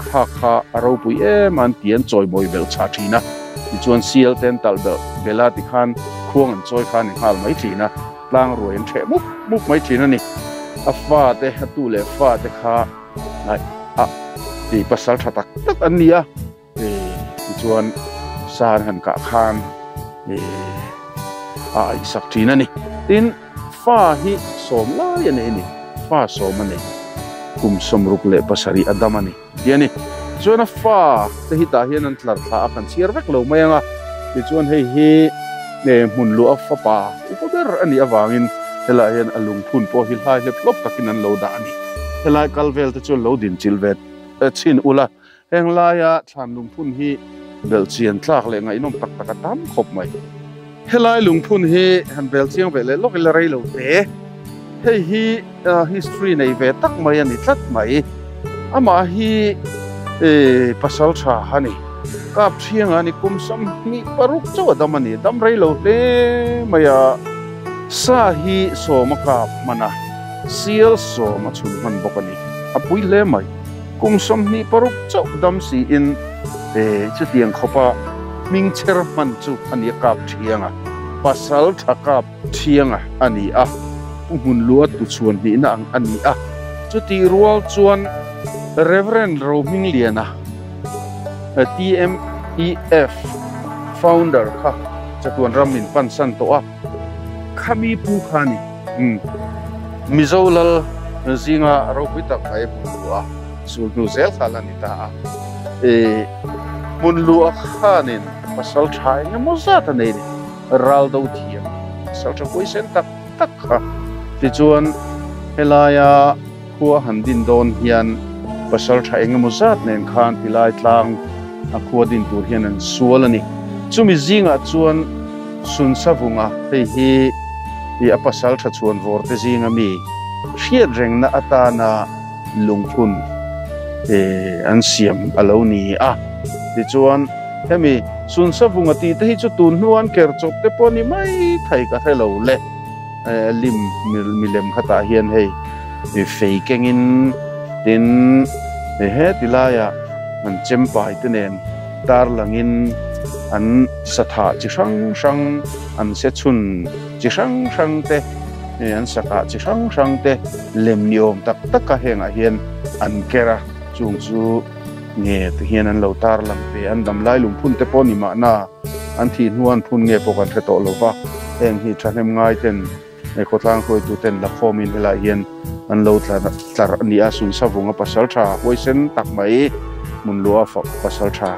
kha kha a ropui em a an ti an chawimawi belh chah thin a. Tichuan sial te an talh belh belh a tikhan khuang an chawi kha a ni nghal mai thin a. Tlang ruai an hreh mup mup mai thin a ni. A fate, a tu leh fate kha ngaih a ti pasal tha tak tak an ni a. Tichuan san han kah khan a aihsak thin a ni. Tin, fa hi sawm lai a nei a ni. Fa sawm a nei. Kum 67 a dam a ni ti a ni. Chuan a fa te hi tah hian an tlar thla a, kan chhiar vek lo mai ang a. Tichuan hei hi hmun luah a fapa upa ber a nih avangin helaiah hian a lungphun pawh hi hlai hlep hlawp takin an lo dah a ni. Helai kal vel te chuan lo dinchilh ve chhin ula, heng laia thlan lungphun hi belhchian tlak leh ngaihnawm tak tak a tam khawp mai. Helai lungphun hi han bel chiang ve leh lawk ila rei lo te. Hei hi history nei ve tak mai a ni tlat mai. Amah hi pasal tha a ni. Kap thianga ni kum 26 chauh a dam a ni. Dam rei lo hle mai a. Sa hi sawm a kap hman a, sial sawm a chhun hman bawk a ni. A pui hle mai. Kum 26 chauh dam siin chutiang khawpa hming chher hman chu a ni a kap thianga. Pasal tha kap thianga a ni a. Pu hmun lua tu chhuan hnihna ang a ni a. Chuti rual chuan Reverend Rohmingliana TMEF founder kha chatuan ram min pan san tawh a. Khami pu kha ni. Mizo lal zinga ropui tak mai hmun lua sul hnu zel kha la ni ta a. Hmun lua khanin pasal tha engemaw zat a nei ni. Ral do thiam pasal tha huaisen tak tak kha. Tichuan helaia khua han din dawn hian pasal tha engemaw zat nen khan tilai tlang a khua din tur hian an sual a ni. Chumi zingah chuan Sunsavunga hei hi a pasal tha chhuan vawr te zinga mi hriat rengna atana lungphun an siam a lo ni a. Tichuan hemi Sunsavunga tih te hi chu tun hnuan ker chawp te pawh ni mai thei ka hre lo le. Lim milem khatah hian hei fei kengin tin he tilaiah an chempai te nen tar langin an satha chi hrang hrang an se chhun chi hrang hrang te an saka chi hrang hrang te lem ni awm tak tak a hengah hian an ker a chung chu nge ti hian an lo tar lang ve an damlai lungphun te pawh ni mahna an thi hnuan phun nge pawh kan hre tawh lova heng hi thahnem ngai ten khawtlang hruaitu ten la khawmin helai hian an lo tlar ani a Sunsavunga pasal tha huaisen tak mai hmun lua pasal tha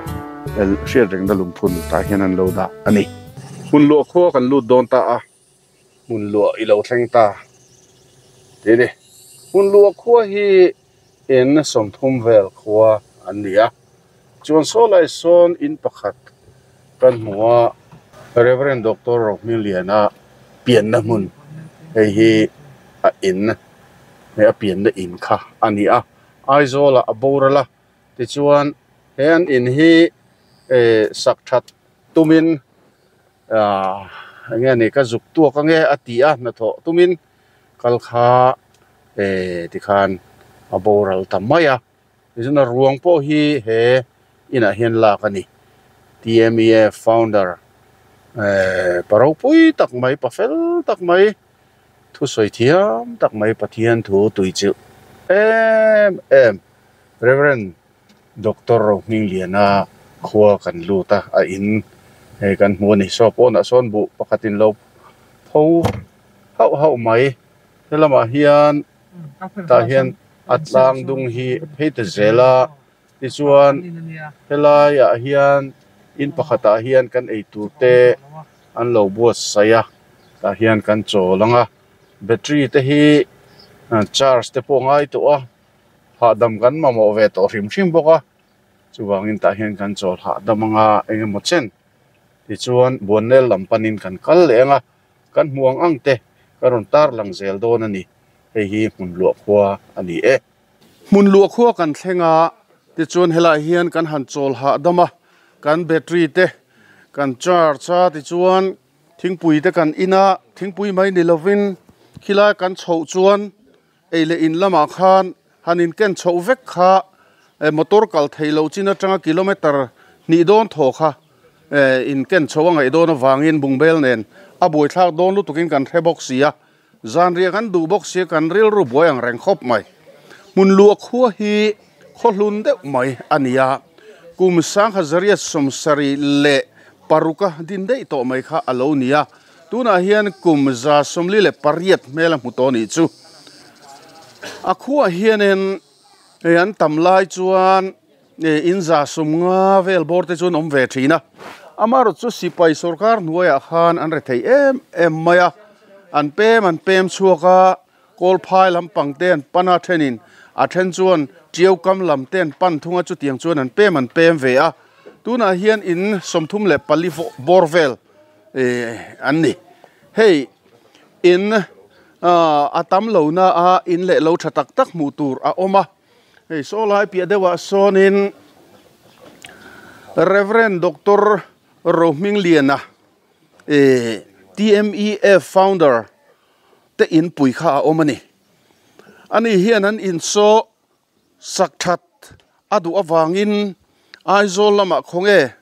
hriat rengna lungphun tah hian an lo dah ani. Hmun lua khua kan lut dawn ta a hmun lua i lo thleng ta ti ni. Hmun lua khua hi in 30 vel khua an ni a. Chuan sawlai sawn in pakhat kan hmu a Reverend Dr. Rohmingliana pianna hmun hei hi a in he a pianna in kha ani a. Aizawl a borala tichuan he an in hi sak that tumin enge ni ka zuk tuak ange a ti a hnathawh tumin kal kha tikhan a boral ta mai a. Tichuan a ruang pawh hi he inah hian lak ani. TMEF founder paropui tak mai pafel tak mai thu sawi thiam tak mai Pathian thu tui chilh em em Reverend Dr. Rohmingliana khua kan lut a a in hei kan hmu ani. Saw pawnah sawn buh pakhatin lo pho hauh hauh mai helamah hian tah hian a tlang dung hi phei ta zel a. Tichuan helaiah hian in pakhatah hian kan ei tur te an lo buatsaih a tah hian kan chawl ang a battery te hi charge te pawh ngai tawh a hahdam kan mamawh ve tawh hrim hrim bawk a chuvangin tah hian kan chawl hahdam anga engemaw chen tichuan Buannel lam panin kan kal leh ang a kan hmu ang ang te ka rawn tar lang zel dawn a ni. Hei hi hmun luah khua a ni e. Hmun luah khua kan thleng a tichuan helai hian kan han chawl hahdam a kan battery te kan charge a tichuan thingpui te kan in a thingpui mai ni lovin khilai kan chhoh chuan ei leh in lamah khan han in ken chhoh vek kha motor kal thei lo chin atanga kilometer hnih dawn thaw kha in ken chhoh a ngaih dawn avangin bungbel nen a buaithlak dawn lutukin kan hre bawk si a. Zanriah kan duh bawk sia kan rilru buai ang reng khawp mai. Hmun luah khua hi khawhlun deuh mai a ni a. Kum 1976 a din daih tawh mai kha a lo ni a. Tunah hian kum 148 hmel a hmu tawh ni chu. A khuah hianin an tam lai chuan in 150 vel bawr te chuan awm ve thin a. Amaherawhchu chu sipai sorkar hnuaiah khan an re thei em em mai a. An pem chhuak a kawlphai lampang te an pan a thenin a then chuan tiau kam lam te an pan thunga chutiang chuan an pem ve a. Tunah hian in 34 bawr vel an ni. Hei in a tam lo na a in leh lo tha tak tak hmuh tur a awm a. Hei saw lai piah deuhah sawnin Reverend Doctor Rohmingliana eh TMEF founder te inpui kha a awm a ni. Ani hian an insaw sak that a duh avangin Aizawl lamah khawnge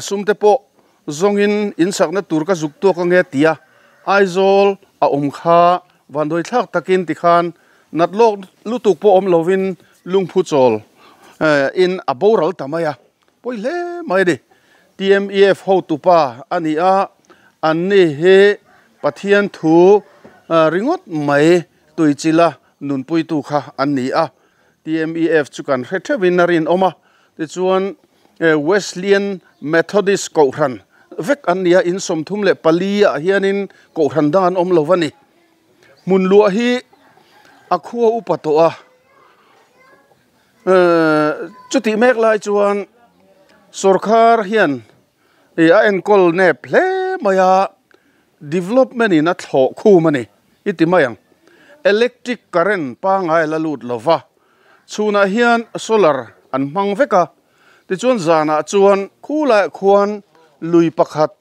sum te pawh zawngin insakna tur ka zuk tawk ange tia Aizawl a awm kha vanduai thlak takin tikhan nat lawk lutuk pawh awm lovin lungphu chawl in a boral ta mai a, pawi hle mai a ni. TMEF hotupa a ni a, anni hi Pathian thu ringawt mai tuichila nunpuitu kha an ni a. TMEF chu kan hre theuhin a rinawm a, tichuan Wesleyan Methodist Kohhran vek an ni a, in 34 ah hianin Kohhran dang an awm lo a ni. Hmun luah hi a khua upa tawh a, chutih mek lai chuan sawrkhar hian a enkawl nep hle mai a, development in a thlawh khum a ni i ti mai ang. Electric current pangai la lut lo va, chhunah hian solar an hmang vek a, tichuan zanah chuan khulaiah khuan lui pakhat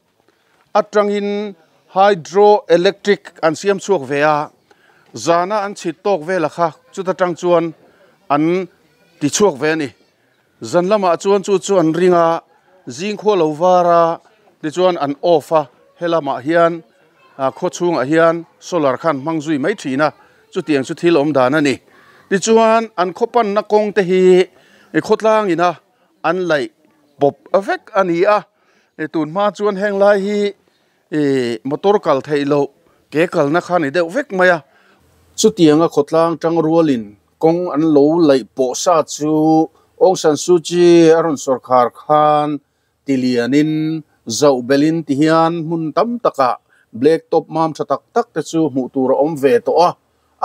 atangin hydro electric an siam chhuak ve a, zana an chhit tawk vel kha chuta tang chuan an ti chhuak ve a ni. Zan lamah chuan chu chu an ring a, zing khua lo var a, tichuan an off a, he lamah hian khaw chhungah hian solar khan hmang zui mai thin a, chutiang chu thil awm dan a ni. Tichuan an khaw panna kawng te hi khawtlang ina an laih pawp vek a ni a, tun hma chuan heng lai hi motor kal theih loh ke kalna kha ni deuh vek mai a. Chutianga khawtlang tang rualin kawng an lo laih pawh sa chu Aung San Suu Kyi a rawn sawrkhar khan tilianin zauh belin ti hian hmun tam takah black top mam tha tak tak te chu hmuh tur a awm ve tawh a.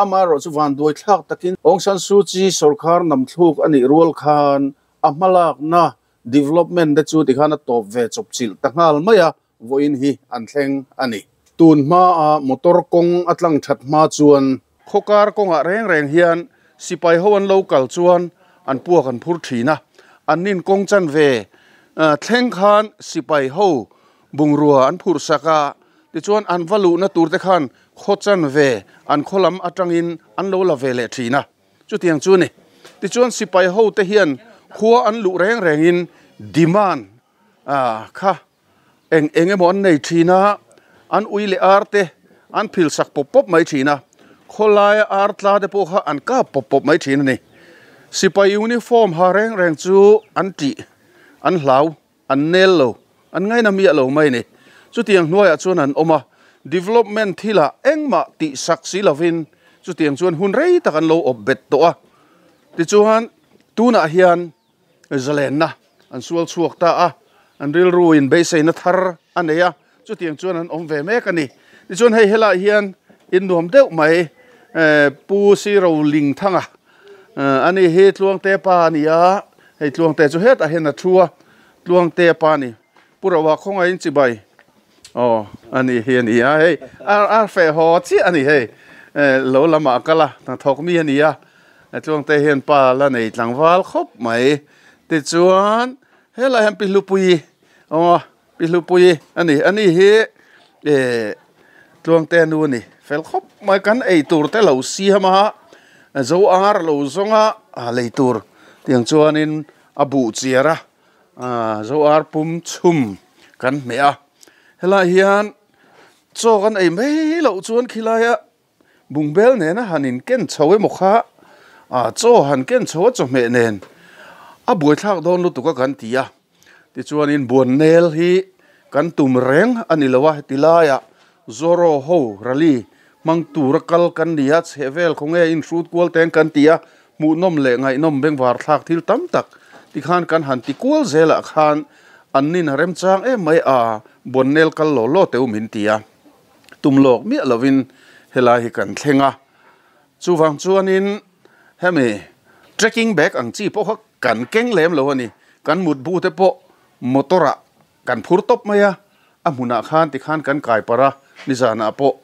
Amaherawh chu vanduai thlak takin Aung San Suu Kyi sawrkhar namthluk a nih rual khan a hmalakna development te chu tikhan a tawp ve chawp chilh ta nghal mai a, vawiin hi an thleng a ni. Tun hmaa motor kawng a tlang that hma chuan. Khawkar kawngah reng reng hian sipai ho an lo kal chuan an puak an phur thin a, an nin kawng chan ve thleng khan sipai ho bungrua an phurh sak a, tichuan an va luhna tur te khan khaw chan ve an khaw lam atangin an lo la ve leh thin a, chutiang chu a ni. Tichuan sipai ho te hian khua an luh reng rengin demand kha eng eng emaw an nei thin a, an ui leh ar te an phil sak pawp pawp mai thin a, khawlaia ar tla te pawh kha an kap pawp pawp mai thin a ni. Sipai uniform ha reng reng chu an tih, an hlau, an nel lo, an ngaina miah lo mai a ni. Chutiang hnuaiah chuan an awm a, development thilah engmah tih sak si lovin chutiang chuan hun rei tak an lo awp bet tawh a. Tichuan tunah hian Zalenna an sual chhuak ta a, an rilru in beiseina thar a nei a, chutiang chuan an awm ve mek a ni. Tichuan hei helaiah hian in nuam deuh mai Pu Siro Lingthanga a ni hi Tluangte pa a ni a, hei Tluangte chu hetah hian a thu a, Tluangte pa a ni. Pu Roa khawngaihin chibai aw a ni hi a ni a, hei a feh haw chiah a ni hei lo lamah a kal a, hnathawk mi a ni a. Tluangte hian pa la nei tlangval khawp mai. Tichuan helai hian Pi Hlupuii aw Pi Hlupuii a ni. Ani hi eh Tluangte nu a ni. Fel khawp mai kan ei tur te lo siam a, zo ar lo zawng a lei tur tiang chuanin a buh chiar a, zo ar pum chhum kan hmeh a. Helai hian chaw kan ei mai loh chuan khilaia Bungbel nena han in ken chho emaw kha ah chaw han ken chho a chawhmeh nen a buaithlak dawn lutuk a kan ti a, tichuanin buannel hi kan tum reng a ni lo a, heti laiah Zoro ho rally hmang tura kal kan ni a, chhehvel khawnge inhrut kual teng kan ti a, hmuhnawm leh ngaihnawm bengvar thlak thil tam tak tikhan kan han ti kual zelah khan an nin a remchang em mai a, buannel kal law law teu min ti a. Tum lawk miah lovin helai hi kan thleng a, chuvang chuanin hemi trekking bag ang chi pawh kha kan keng lem lo a ni. Kan mutbu te pawh motor ah kan phur tawp mai a, a hmunah khan tikhan kan kai parh a, nizanah pawh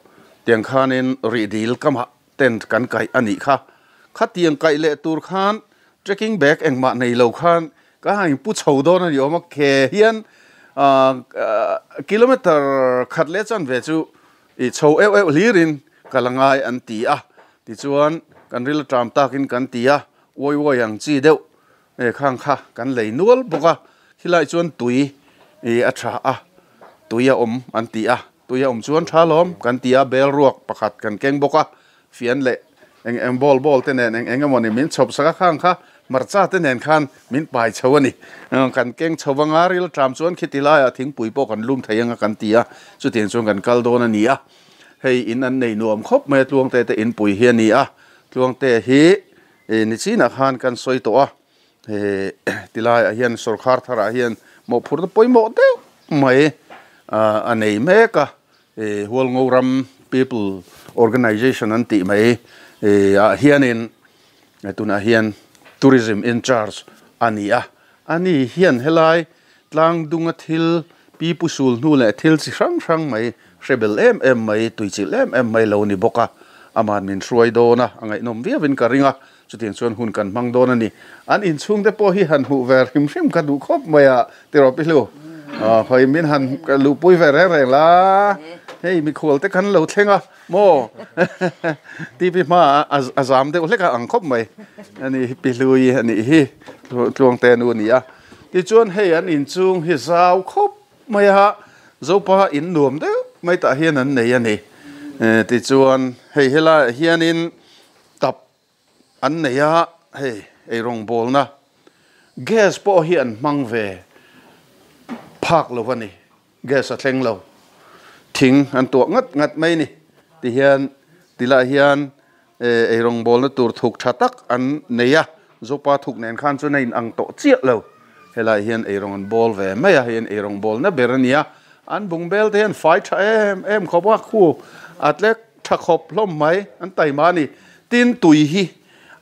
tiang khanin rih dil kamah tent kan kaih a nih kha. Khatiang kaih leh tur khan Trekking bag engmah nei lo khan ka han inpu chho dawn a ni awm a, ke hian kilometre khat leh chanve chu i chho euh euh hlirin ka la ngai an ti a. Tichuan kan ril aṭam takin kan ti a, uai uai ang chi deuh khang kha kan lei nual bawk a, khilai chuan tui a tha a, tui a awm an ti a, tui a awm chuan tha lawm kan ti a, bel ruak pakhat kan keng bawk a, fian leh eng eng ball ball te nen eng eng emawni min chhawp sak a, khang kha hmarcha te nen khan min pai chho a ni. Kan keng chho anga ril ṭam chuan khiti laiah thingpui pawh kan lum thei anga kan ti a, chutiang chuan kan kal dawn a ni a. Hei in an nei nuam khawp mai a, Tluangte te inpui hi a ni a, Tluangte hi ni chinah khan kan sawi tawh a, he tilaiah hian sawrkhar tharah hian mawhphurhna pawimawh deuh mai a nei mek a, Hualngoram People Organisation an tih mai ah hianin tunah hian Tourism in charge a ni a, ani hian helai tlangdunga thil pi pu sul hnu leh thil chi hrang hrang mai hre bel em em mai, tuichilh em em mai lo ni bawk a, aman min hruai dawn a, a ngaihnawm viauin ka ring a, chutiang chuan hun kan hmang dawn a ni. An inchhung te pawh hi han hmuh ve hrim hrim ka duh khawp mai a, tiraw Pi Hlu? Khawi min han luhpui ve reng reng la, hei mikhual te kan lo thleng a maw? TV hmaah a zam deuh hlek a ang khawp mai a ni hi Pi Hlui a nih hi, Tluangte nu a ni a. Tichuan hei an inchung hi zau khawp mai a, Zopa in nuam deuh mai tah hian an nei a ni. Tichuan hei helaiah hianin tap an nei a, hei eirawngbawlna gas pawh hi an hmang ve phak lo a ni, gas a thleng lo, thing an tuah ngat ngat mai a ni. Tihian tilaiah hian Eirawngbawlna tur thuk tha tak an nei a, Zopa thuk nen khan chuan a inang tawh chiah lo. Helaiah hian eirawng an bawl ve mai a, hei an eirawngbawlna ber a ni a, an bungbel te hian fai tha em em khawp a, khu a tlek tha khawp hlawm mai, an taima a ni. Tin, tui hi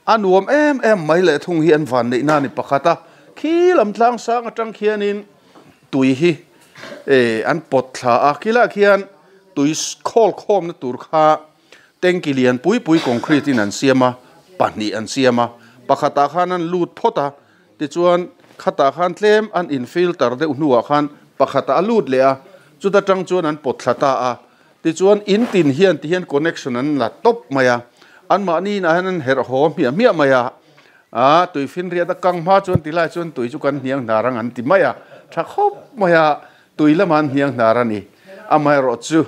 a nuam em em mai leh thung hi an vanneihna a ni pakhat a, khi lam tlang sang atang khianin tui hi an pawt thla a, khilaiah khian tui khawl khawmna tur kha Tanky lian pui pui concrete in an siam a, pahnih an siam a, pakhatah khan an lut phawt a, tichuan khatah khan tlem an in filter deuh hnuah khan pakhatah a lut leh a, chuta tang chuan an pawt thla ta a, tichuan in tin hian ti hian connection an la tawp mai a, anmahni inah hian an herh haw hmiah hmiah mai a, aa tui finriat a kang hma chuan ti lai chuan tui chu kan hniang hnar ang an ti mai a, tha khawp mai a, tui lamah an hniang hnar a ni, amaherawh chu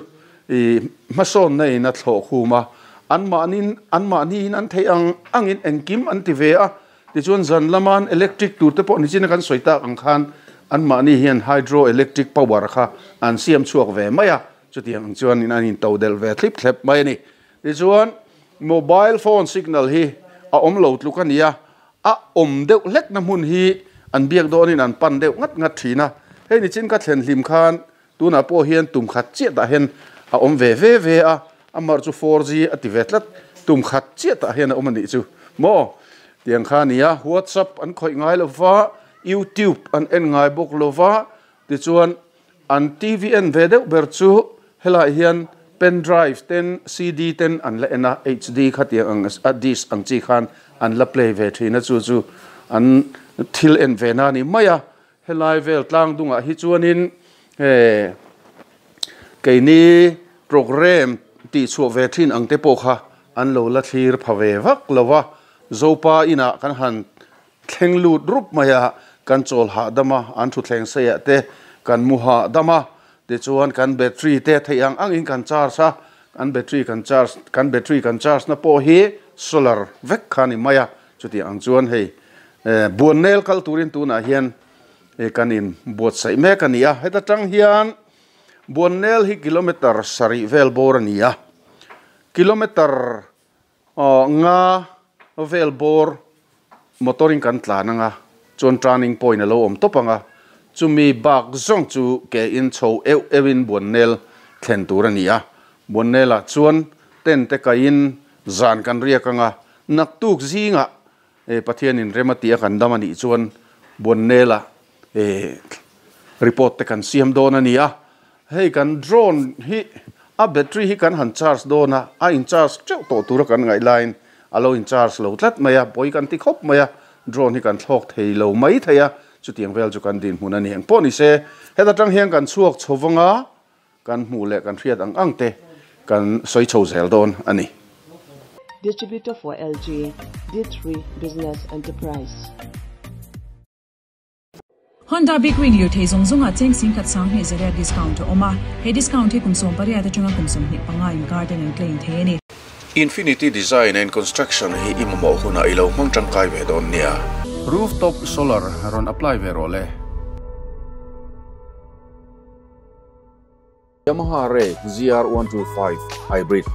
I hmasawnna in a thlawh khum a, anmahni anmahniin an theih ang angin engkim an ti ve a, tichuan zan lama an electric tur te pawh nichin a kan sawi tak ang khan anmahni hian hydro electric power kha an siam chhuak ve mai a, chutiang ang chuan in an into delh ve thlip thlep mai a ni. Tichuan mobile phone signal hi a awm lo tluk a ni a, a awm deuh hlekna hmun hi an biak dawnin an pan deuh ngat ngat thin a, hei nichin ka thlen hlim khan Tunah pawh hian tum khat chiah tah hian a awm ve ve ve a, amar chu 4G a ti ve tlat, tum khat chiah tah hian a awm a nih chu maw? Tiang kha a ni a, WhatsApp an khawih ngai lo va, YouTube an en ngai bawk lo va, tichuan an TV en ve deuh ber chu helaiah hian pen drive ten CD ten an la en a, HD kha tiang ang a disc ang chi khan an la play ve thin a, chu chu an thil en ve na a ni mai a. Helai vel tlang dungah hi chuanin he keini programme tih chhuah ve thin ang te pawh kha an lo la thlir pha ve vak lo va, Zopa inah kan han thleng lut rup mai a, kan chawl hahdam a, an thutthleng seiah te kan mu hahdam a, tichuan kan battery te theih ang angin kan charge a, kan battery kan charge kan battery kan charge na pawh hi solar vek kha a ni mai a, Chutiang ang chuan hei Buannel kal turin tunah hian kan in buatsaih mek a ni a, heta tang hian Buannel hi kilometer sarih vel bawr a ni a, kilometer nga vel bawr motor in kan tlan anga chuan turning point a lo awm tawp anga, chumi bak zawng chu ke in chho euh euh in Buannel thlen tur a ni a, Buannel ah chuan tent te kaiin zan kan riak anga, Naktuk zingah Pathianin rem a tih a kan dam a nih chuan Buannela report te kan siam dawn a ni a. Hei kan drone hi a battery hi kan han charge dawn a, a in charge teuh tawh tura kan ngaih laiin a lo in charge lo tlat mai a, pawi kan ti khawp mai a. Drone hi kan thlawk thei lo mai thei a, chutiang vel chu kan dinhmun a ni. Engpawh ni se, heta tang hian kan chhuak chho vang a, kan hmuh leh kan hriat ang ang te kan sawi chho zel dawn a ni. Distributor for LG, D3 Business Enterprise. Honda Big Wing lirthei zawng zawngah cheng singkhat sanghnih zariat discount a awm a, he discount hi kum 18 atanga kum 25 inkar ten an claim thei a ni. Infinity Design and Construction hi i mamawh hunah i lo hmang tangkai ve dawn nia. Rooftop solar rawn apply ve rawh le. Yamaha Ray ZR 125 Hybrid.